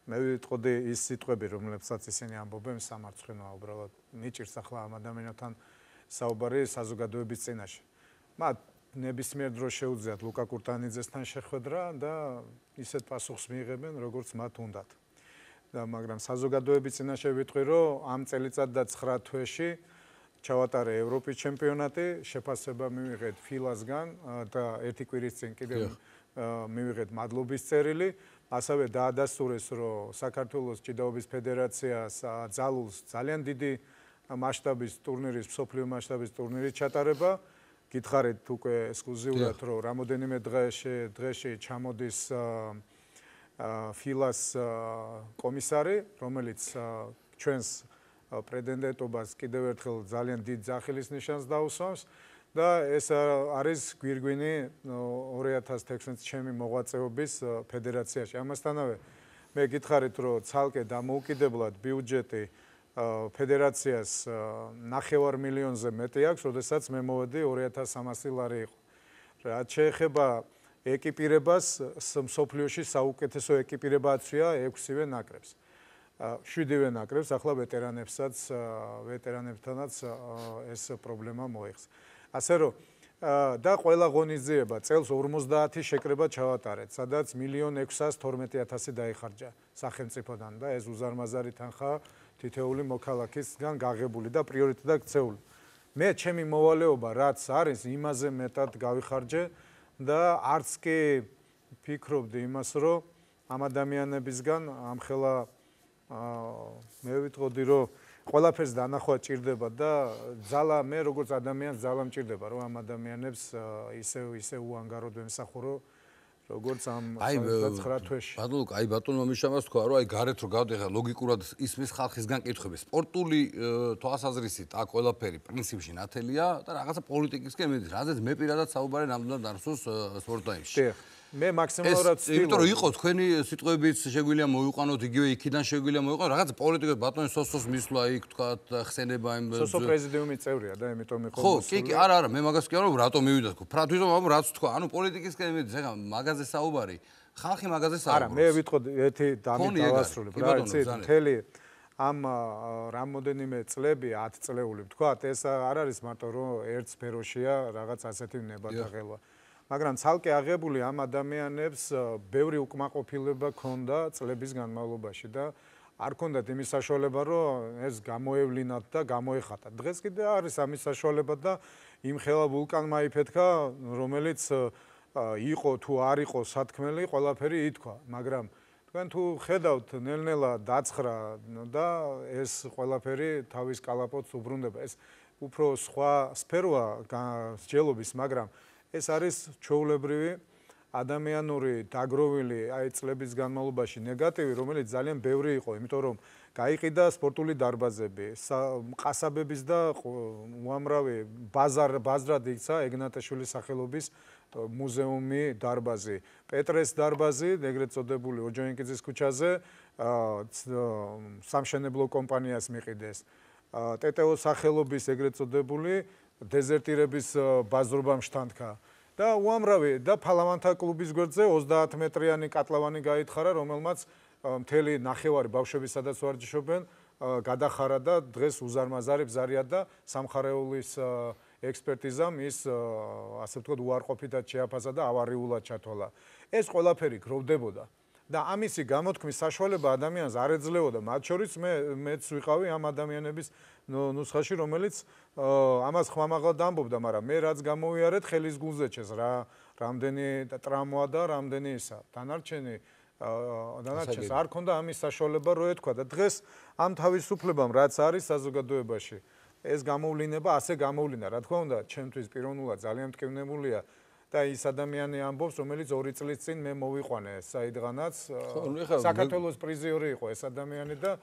მე ვიტყოდი ის სიტყვები, რომლებსაც ისინი ამბობენ სამარცხვინოა უბრალოდ მიჭირს ახლა ამ ადამიანთან საუბარი საზოგადოების წინაშე. მათ ნებისმიერ დროს შეუძლიათ ლუკა კურტანიძესთან შეხვედრა და ისეთ პასუხს მიიღებენ, როგორც მათ უნდათ. და მაგრამ საზოგადოების წინაშე ვიტყვი, რომ ამ წელიწად და 9 თვეში ჩავატარე ევროპის ჩემპიონატი, შეფასება მივიღეთ ფილასგან და ერთი კვირის წინ კიდევ მივიღეთ მადლობის წერილი. ასევე დაადასტურეს, რომ საქართველოს ჭიდაობის ფედერაციას ძალულს ძალიან დიდი მასშტაბის ტურნირის, მსოფლიო მასშტაბის ტურნირის ჩატარება. გითხარით უკვე ექსკლუზიურად, რომ რამოდენიმე დღეში ჩამოდის ფილას კომისარი, რომელიც ჩვენს პრეტენდენტობას კიდევ ერთხელ ძალიან დიდ ძახილის ნიშანს დაუსვამს. და ეს არის გვირგვინი 2016 ჩემი მოღვაწეობის ფედერაციაში. ამასთანავე მე გითხარით, რომ ცალკე დამოუკიდებლად ბიუჯეტი ფედერაციას 9 მილიონზე მეტი აქვს, როდესაც მე მოვედი 2300 ლარი იყო. რაც შეეხება ეკიპირებას, მსოფლიოში საუკეთესო ეკიპირებაცია 6-ვე ნაკრებს. 7-ვე ნაკრებს, ახლა ვეტერანებთანაც ეს პრობლემა მოიხს. ასე რომ და ყველა ღონისძიება წელს 50 შეკრება ჩავატარეთ, სადაც 1,612,000 დაიხარჯა სახელმწიფოდან და ეს უზარმაზარი თანხა თითეული მოქალაქისგან გაღებული და პრიორიტეტად ქცეული. მე ჩემი მოვალეობა რაც არის, იმაზე მეტად გავიხარჯე და არც კი ფიქრობდი იმას, რომ ამ ადამიანებისგან ამხელა მე ვიტყოდი, რომ ყველაფერს დანახვა ჭირდება და ძალა მე როგორც ადამიანს ძალა მჭირდება, რომ ამ ადამიანებს ისე უანგაროდ ვემსახურო, როგორც ამ 9 თვეში. ბატონო, აი ბატონმა მიშამას თქვა, რომ აი გარეთ რო გავდიხარ ლოგიკურად ისმის ხალხისგან კითხვები. სპორტული თვალსაზრისით აქ ყველაფერი პრინციპში ნათელია და რაღაცა პოლიტიკისკენ მიდის. რაზეც მე პირადად საუბარი ნამდვილად არსოს სპორტაიმში. მე მაქსიმალურად ვცდილობ. იმიტომ რომ იყო თქვენი სიტყვებიც შეგვიძლია მოიყვანოთ, იგივე იქიდან შეგვიძლია მოიყვანოთ. რაღაც პოლიტიკოს ბატონი სოსოს მისვლა იქ თქვა ხსენება იმ სოსო პრეზიდიუმის წევრია და იმიტომ იყო ხო, კი, არა, მე მაგას კი არ ვამბობ, რატომ მივიდა თქო. თვითონ ამ რაც თქვა, ანუ პოლიტიკისკენ მიდის, ეხლა მაგაზე საუბარი. ხალხი მაგაზე საუბრობს. არა, მე ვიტყოდ ერთი დამით დავასრულებ რა, იცით, მთელი ამ რამოდენიმე წლები 10 წლეული ვთქვათ, ეს არ არის მარტო რომ ერთ სფეროშია რაღაც ასეთი ნებათაღელვა. მაგრამ ცალკე აღებული ამ ადამიანებს ბევრი უკმაყოფილება ჰქონდა წლების განმავლობაში და არ ჰქონდათ იმის საშუალება, რომ ეს გამოევლინათ და გამოეხატათ. დღეს კიდე არის ამის საშუალება და იმ ხელა ვულკანმა იფეთქა, რომელიც იყო თუ არ იყო სათქმელი, ყველაფერი ითქვა, მაგრამ თქვენ თუ ხედავთ ნელ-ნელა დაცხრა და ეს ყველაფერი თავის კალაპოტს უბრუნდება. ეს უფრო სხვა სფეროა მსჯელობის, მაგრამ ეს არის ჩვეულებრივი ადამიანური დაგროვილი აი წლების განმავლობაში ნეგატივი, რომელიც ძალიან ბევრი იყო, იმიტომ რომ გაიყიდა სპორტული დარბაზები, ყასაბების და უამრავი ბაზრად იქცა ეგნატაშვილის სახელობის მუზეუმი დარბაზი, პეტრეს დარბაზი, ეგრეთ წოდებული ოჯონიკიძის ქუჩაზე, სამშენებლო კომპანიას მიყიდეს, ტეტეოს სახელობის ეგრეთ წოდებული დეზერტირების ბაზრობამ შთანთქა და უამრავი და ფალავანთა კლუბის გვერდზე 30 მეტრიანი კატლავანი გაითხარა, რომელმაც მთელი ნახევარი ბავშვები სადაც ვარჯიშობენ გადახარა და დღეს უზარმაზარი ბზარია და სამხარეულის ექსპერტიზამ ის ასე ვთქვათ უარყოფითად შეაფასა და ავარიულად ჩათვალა. ეს ყველაფერი გროვდებოდა და ამისი გამოთქმის საშუალება ადამიანს არ ეძლეოდა, მათ შორის მეც ვიყავი ამ ადამიანების ნუსხაში, რომელიც ამას ხმამაღლად ამბობდა, მაგრამ მე რაც გამოვიარეთ, ხელის გულზე ჩეს რა, რამდენი ტრამვა და რამდენი ისა. დანარჩენს არ ქონდა ამის საშუალება, რო ეთქვა და დღეს ამ თავისუფლებამ რაც არის საზოგადოებაში, ეს გამოვლინება ასე გამოვლინდა, რა თქმა უნდა, ჩემთვის პიროვნულად ძალიან მტკივნებულია და ის ადამიანი ამბობს, რომელიც 2 წლის წინ მე მოვიყვანე საიდღანაც საქართველოს პრიზიორი იყო ეს ადამიანი და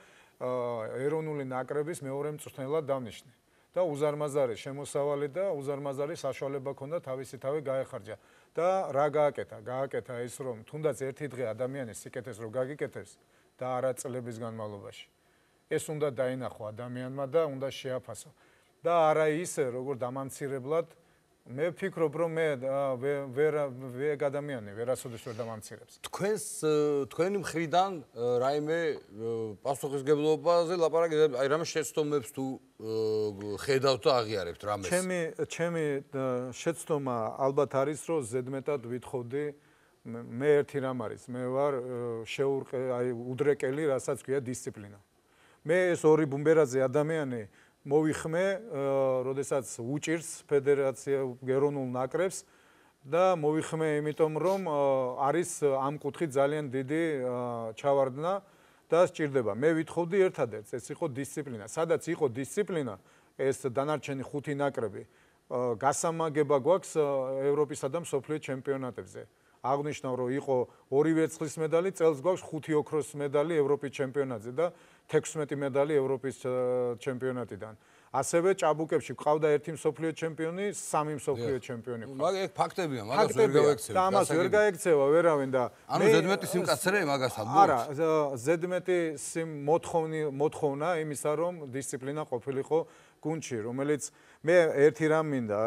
ეროვნული ნაკრების მეორე მწვრთნელად დავნიშნე. და უზარმაზარი შემოსავალი და უზარმაზარი საშუალება ჰქონდა თავისი თავი გაეხარჯა. და რა გააკეთა? გააკეთა ის, რომ თუნდაც ერთი დღე ადამიანის სიკეთეს რო გაგიკეთებს და არა წლების განმავლობაში. ეს უნდა დაინახო ადამიანმა და უნდა შეაფასო. და არა ისე, როგორ დამამცირებლად მე ვფიქრობ, რომ მე ვერ ადამიანი ვერასოდეს ვერ დამამცირებს. თქვენი მხრიდან რაიმე პასუხისგებლობაზე ლაპარაკი, აი რამე შეცდომებს თუ ხედავთ და აღიარებთ რამეს? ჩემი შეცდომა ალბათ არის, რომ ზედმეტად ვითხოვდი მე ერთი რამ არის, მე ვარ უდრეკელი, რასაც ქვია დისციპლინა. მე ეს ორი ბუმბერაძე ადამიანი მოვიხმე, როდესაც უჭირს ფედერაცია ეროვნულ ნაკრებს და მოვიხმე იმიტომ, რომ არის ამ კუთხით ძალიან დიდი ჩავარდნა და სჭირდება. მე ვითხოვდი ერთადერთს, ეს იყო დისციპლინა. სადაც იყო დისციპლინა, ეს დანარჩენი 5 ნაკრები, გასამაგება გვაქვს ევროპისა და მსოფლიო ჩემპიონატებზე. აღნიშნავ, რომ იყო 2 ვერცხლის მედალი, წელს გვაქვს 5 ოქროს მედალი ევროპის ჩემპიონატზე და 16 მედალი ევროპის ჩემპიონატიდან. ასევე ჭაბუკებში ყავდა 1 მსოფლიო ჩემპიონი, 3 მსოფლიო ჩემპიონი. მაგ ფაქტებია, მაგას ვერ გავექცევ. და ამას ვერ გაექცევა ვერავინ და ანუ ზედმეტი სიმკაცრე მაგას ამბობთ? არა, ზედმეტი მოთხოვნა იმისა, რომ დისციპლინა ყოფილიყო გუნდში, რომელიც მე ერთი რამ მინდა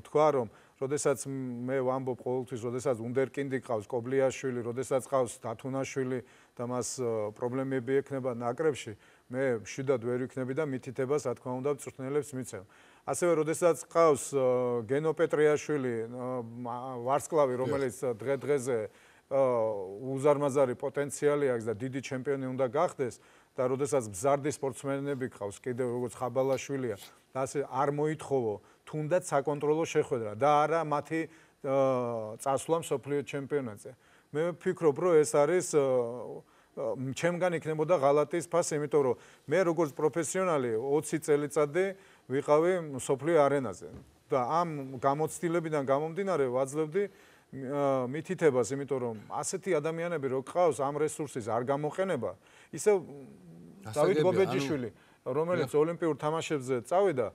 თქვა, რომ როდესაც მე ვამბობ ყოველთვის, როდესაც უნდერკინდი ყავს, კობლიაშვილი, როდესაც ყავს დათუნაშვილი და მას პრობლემები ექნება ნაკრებში, მე მშვიდად ვერ ვიქნები და მითითებას, რა თქმა უნდა, მწვრთნელებს მიცემ. ასევე როდესაც ყავს გენო პეტრიაშვილი, ვარსკვლავი, რომელიც დღე-დღეზე უზარმაზარი პოტენციალი აქვს და დიდი ჩემპიონი უნდა გახდეს და როდესაც მზარდი სპორტსმენები ყავს, კიდევ როგორც ხაბალაშვილია, და ასე არ მოითხოვო თუნდაც საკონტროლო შეხვედრა და არა მათი წასვლა მსოფლიო ჩემპიონატზე. მე ვფიქრობ, რომ ეს არის ჩემგან იქნებოდა ღალატის ფასი, იმიტომ რომ მე როგორც პროფესიონალი 20 წელიწადი ვიყავი მსოფლიო არენაზე და ამ გამოცდილებიდან გამომდინარე ვაძლევდი მითითებას, იმიტომ რომ ასეთი ადამიანები რო გყავს ამ რესურსის არ გამოყენება, ისე დავით გობეჯიშვილი, რომელიც ოლიმპიურ თამაშებზე წავიდა,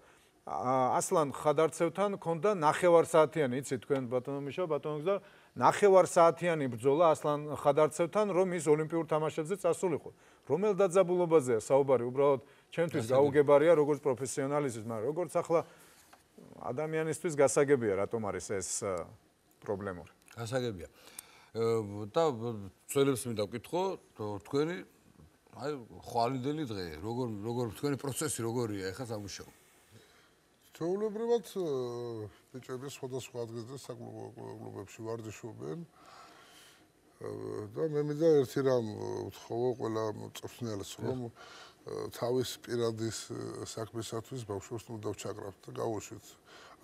ასლან ხადარცევთან ქონდა 9 საათიანი, იცით თქვენ ბატონო მიშა, ბატონო გზა, 9 საათიანი ბრძოლა ასლან ხადარცევთან, რომ ის ოლიმპიურ თამაშებზე წასულიყო. რომელ დაძაბულობაზეა საუბარი, უბრალოდ ჩემთვის გაუგებარია როგორც პროფესიონალისთვის, მაგრამ როგორც ახლა ადამიანისთვის გასაგებია, რატომ არის ეს პრობლემური. გასაგებია. და ძველებს მინდა ვკითხო, თქვენი აი ხვალინდელი დღე, როგორ თქვენი პროცესი როგორია ახლა სამუშაო? ჩვეულებრივად ბიჭები სხვადასხვა ადგილზე საკლუბებში ვარჯიშობენ და მე მინდა ერთი რამ ვთხოვო ყველა მწვრთნელს, რომ თავის პირადის საქმისათვის ბავშვებს უნდა ჩაკრავთ და გავუშვით.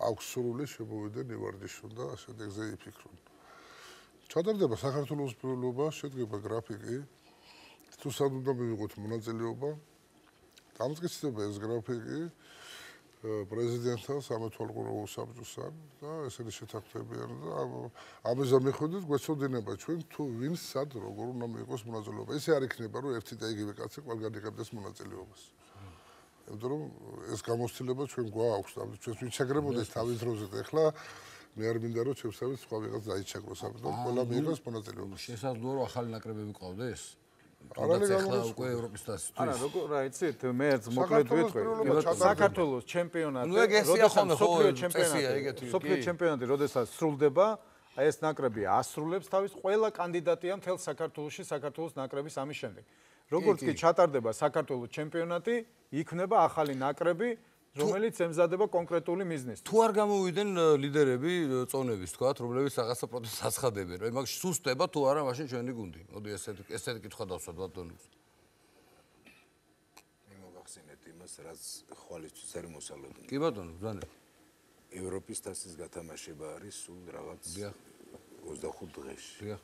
აქვს სრული შემოვიდნენ ივარჯიშონ და შედეგზე იფიქრონ. ჩატარდება საქართველოს პროლობა, შედგება გრაფიკი. თუ სად უნდა მივიღოთ მონაწილეობა? დამტკიცდება ეს გრაფიკი პრეზიდენტთან, სამეთვალყურეო საბჭოსთან და ესენი შეთანხმებიან და ამაზე მიხვდით გვეცოდინება ჩვენ თუ ვინ სად როგორ უნდა მიიღოს მონაწილეობა. ესე არ იქნება რომ ერთი და იგივე კაცი ყველგან იღებდეს მონაწილეობას. იმიტომ რომ ეს გამოცდილება ჩვენ გვაქვს და ჩვენს ვიჩაგრებოდეს თავის დროზე და ახლა მე არ მინდა რომ ჩვენსავით სხვა ვიღაც დაიჩაგროს, ამიტომ ყველა მიიღოს მონაწილეობა. შესაძლოა რომ ახალი ნაკრებები გყავდეს? ახლა უკვე ევროპის თასისთვის. არა, როგორ რა იცით, მე ერთ მოკლედ ვიტყვი. საქართველოს ჩემპიონატი, სოფლიო ჩემპიონატი, როდესაც სრულდება, აი ეს ნაკრები ასრულებს თავის ყველა კანდიდატია მთელ საქართველოში საქართველოს ნაკრების ამის შემდეგ. როგორც კი ჩატარდება საქართველოს ჩემპიონატი, იქმნება ახალი ნაკრები, რომელიც ემზადება კონკრეტული მიზნისთვის. თუ არ გამოვიდნენ ლიდერები წონების, თქვათ, რომლებიც რაღაცა პროტესტს აცხადებენ, რომ მაგ სუსტება თუ არა მაშინ ჩვენი გუნდი. მოდი ესეთი კითხვა დავსვათ ბატონებს. მე მოგახსენეთ იმას, რაც ხვალისთვის არის მოსალოდნელი. კი ბატონო, ბრძანე. ევროპის თასის გათამაშება არის სულ რაღაც 25 დღეში. დიახ.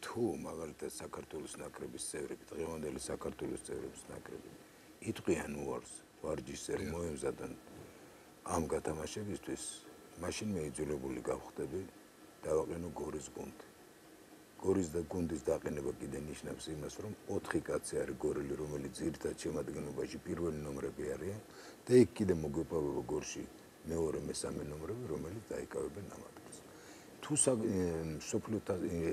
თუ მაგალითად საქართველოს ნაკრების წევრები, დღევანდელი საქართველოს წევრების ნაკრები იტყვიან უარს ვარჯიშზე მოემზადონ ამ გათამაშებისთვის, მაშინ მე იძულებული გავხდები დავაყენო გორის გუნდი. გორის და გუნდის დაყენება კიდე ნიშნავს იმას, რომ 4 კაცი არის გორელი, რომელიც ძირითად შემადგენლობაში პირველი ნომრები არიან და იქ კიდე მოგვეპოვება გორში მეორე, მესამე ნომრები, რომელიც დაიკავებენ ამ ადგილს. თუ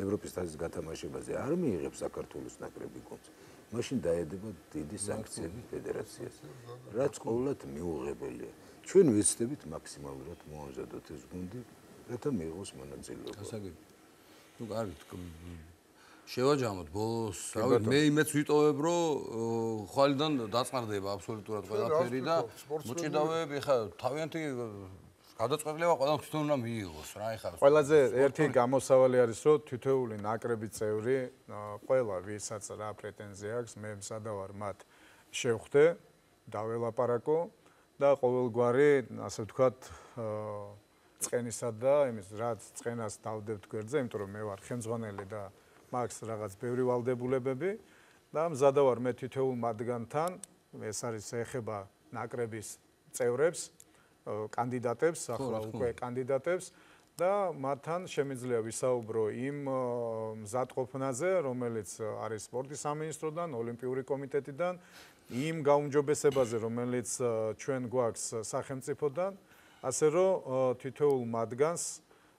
ევროპის თასის გათამაშებაზე არ მიიღებს საქართველოს ნაკრები გუნდს, მაშინ დაედება დიდი სანქციები ფედერაციას, რაც ყოველად მიუღებელია. ჩვენ ვეცდებით მაქსიმალურად მოამზადოთ ეს გუნდი, რათა მიიღოს მონაწილეობა. გასაგები. ნუ კარგი, შევაჯამოთ ბოლოს, რავი, მე იმეც ვიტოვებ, რომ ხვალიდან დაწყარდება აბსოლუტურად ყველაფერი და მოჭიდავეები ხა თავიანთი გადაწყვეტილება ყველა თვითონ უნდა მიიღოს რა ეხლა. ყველაზე ერთი გამოსავალი არის, რომ თითოეული ნაკრების წევრი, ყველა ვისაც რა პრეტენზია აქვს, მე მსადავარ მათ შევხვდე, დაველაპარაკო და ყოველგვარი, ასე ვთქვათ, წყენისა და იმის რაც წყენას დავდებთ გვერდზე, იმიტომ რომ მე ვარ ხელმძღვანელი და მაქვს რაღაც ბევრი ვალდებულებები და მსადავარ მე თითოეულ მათგანთან, ეს არის ეხება ნაკრების წევრებს, კანდიდატებს, ახლა უკვე კანდიდატებს და მათთან შემიძლია ვისაუბრო იმ მზადყოფნაზე, რომელიც არის სპორტის სამინისტროდან, ოლიმპიური კომიტეტიდან, იმ გაუმჯობესებაზე, რომელიც ჩვენ გვაქვს სახელმწიფოდან, ასე რომ თითოეულ მათგანს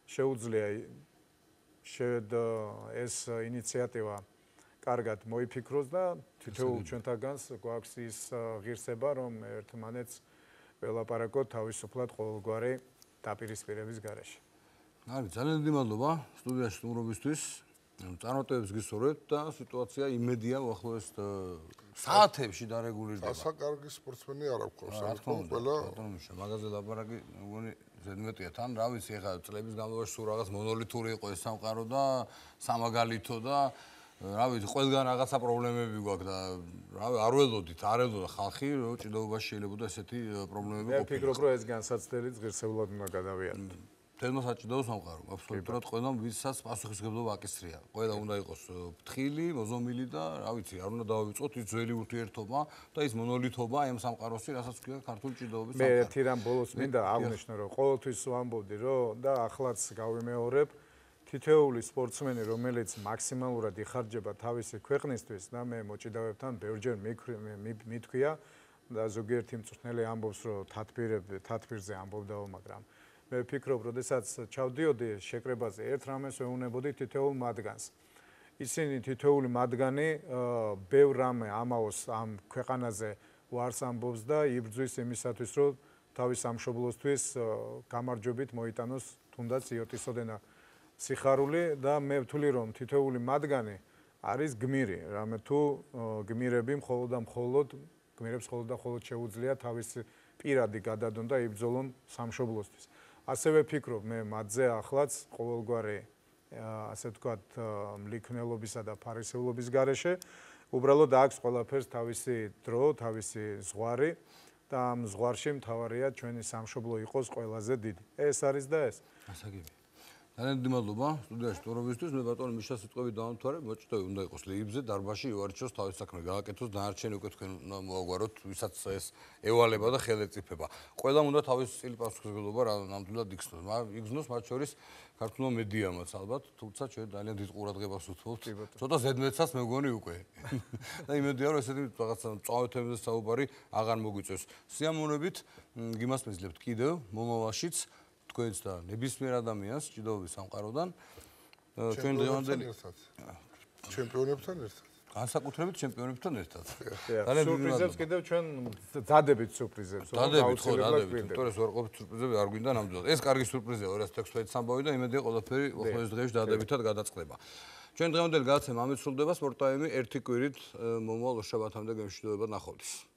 შეუძლია ეს ინიციატივა კარგად მოიფიქროს და თითოეულ ჩვენთაგანს გვაქვს ის ღირსება, რომ ერთმანეთს ველაპარაკოთ თავისუფლად ყოველგვარი დაპირისპირების გარეშე. არის ძალიან დიდი მადლობა სტუდიაში სტუმრობისთვის. წარმატებებს გისურვებთ და სიტუაცია იმედია უახლოეს საათებში დარეგულირდება. ასა კარგი სპორტსმენი არ აქვს. რა თქმა უნდა, ბატონო, მაგაზე ლაპარაკი მგონი ზედმეტია თან, რა ვიცი, ეხლა წლების განმავლობაში სულ რაღაც მონოლითური იყო ეს სამყარო და სამაგალითო და რა ვიცი, ყველგან რაღაცა პრობლემები გვაქვს და რავი, არ ველოდით, არ ელოდა ხალხი, რომ ჭიდაობაში შეიძლება ესეთი პრობლემები ყოფილიყო. მე ვფიქრობ, რომ ეს განსაცდელიც ღირსეულად უნდა გადავიაროთ. თელმა საჭიდაო სამყარო, აბსოლუტურად ყველამ ვისაც პასუხისმგებლობა აკისრია. ყველა უნდა იყოს ფრთხილი, მოზომილი და რა ვიცი, არ უნდა დავივიწყოთ ის ძველი ურთიერთობა და ის მონოლითობა ამ სამყაროსი, რასაც ქვია ქართული ჭიდაობის სამყარო. მე ერთი რამ ბოლოს მინდა აღვნიშნო, რომ ყოველთვის ვამბობდი, რომ და ახლაც გავიმეორებ თითოეული სპორტსმენი, რომელიც მაქსიმალურად იხარჯება თავისი ქვეყნისთვის და მე მოჭიდავებთან ბევრჯერ მithქვია და ზოგიერთი მწვრთნელი ამბობს, რომ თათბირზე ამბობდაო, მაგრამ მე ვფიქრობ, როდესაც ჩავდიოდი შეკრებაზე, ერთ რამეს ვეუბნებოდი თითოეულ მათგანს. ისინი თითოეული მათგანი ბევრ რამე ამაოს ამ ქვეყანაზე უარს ამბობს და იბრძვის იმისათვის, რომ თავის სამშობლოსთვის გამარჯვებით მოიტანოს თუნდაც იოტისოდენა სიხარული და მე ვთვლი, რომ თითოეული მათგანი არის გმირი, რამე თუ გმირები გმირებს მხოლოდ და მხოლოდ შეუძლია თავის პირადი გადადონ და იბრძოლონ სამშობლოსთვის. ასევე ვფიქრობ მე მათზე ახლაც ყოველგვარი ასე ვთქვათ მლიქნელობისა და ფარისეულობის გარეშე უბრალოდ აქვს ყველაფერს თავისი დრო, თავისი ზღვარი და ამ ზღვარში მთავარია ჩვენი სამშობლო იყოს ყველაზე დიდი. ეს არის და ეს. ასაგები. ძალიან დიდი მადლობა სტუდიაში ტურობისთვის. მე ბატონო მიშას სიტყვებით დავამთავრე. მოჭიდავი უნდა იყოს ლეიბზე, დარბაზში ივარჩიოს თავის საქმე გააკეთოს, დანარჩენი უკვე თქვენ უნდა მოაგვაროთ, ვისაც ეს ევალება და ხელეწიფება. ყველამ უნდა თავის წილი პასუხისმგებლობა ნამდვილად იგრძნოს, მათ შორის ქართულმა მედიამაც ალბათ, თუმცა ჩვენ ძალიან დიდ ყურადღებას უთმობთ. ცოტა ზედმეტსაც მე მგონი უკვე. და იმედია რომ ესეთი რაღაცა მწვავე თემებზე საუბარი აღარ მოგვიწევს. სიამოვნებით გიმასპინძლებთ კიდევ მომავალშიც თქვენს და ნებისმიერ ადამიანს ჭიდაობის სამყაროდან ჩვენ დღევანდელი ჩემპიონებთან ერთად. განსაკუთრებით ჩემპიონებთან ერთად. სურპრიზებს კიდევ ჩვენ ძადებით სურპრიზებს. ძადებით ხო, ძადებით. იმიტომ რომ ვარყოფით სურპრიზები არ გვინდა ნამდვილად. ეს კარგი სურპრიზია 2016 ამბავი და იმედია ყველაფერი უახლოეს დღეებში დადებითად გადაწყდება. ჩვენ დღევანდელი გადაცემა ამით სრულდება. სპორტ ტაიმი ერთი კვირით მომავალ შაბათამდე გემშვიდობებად ნახვამდის.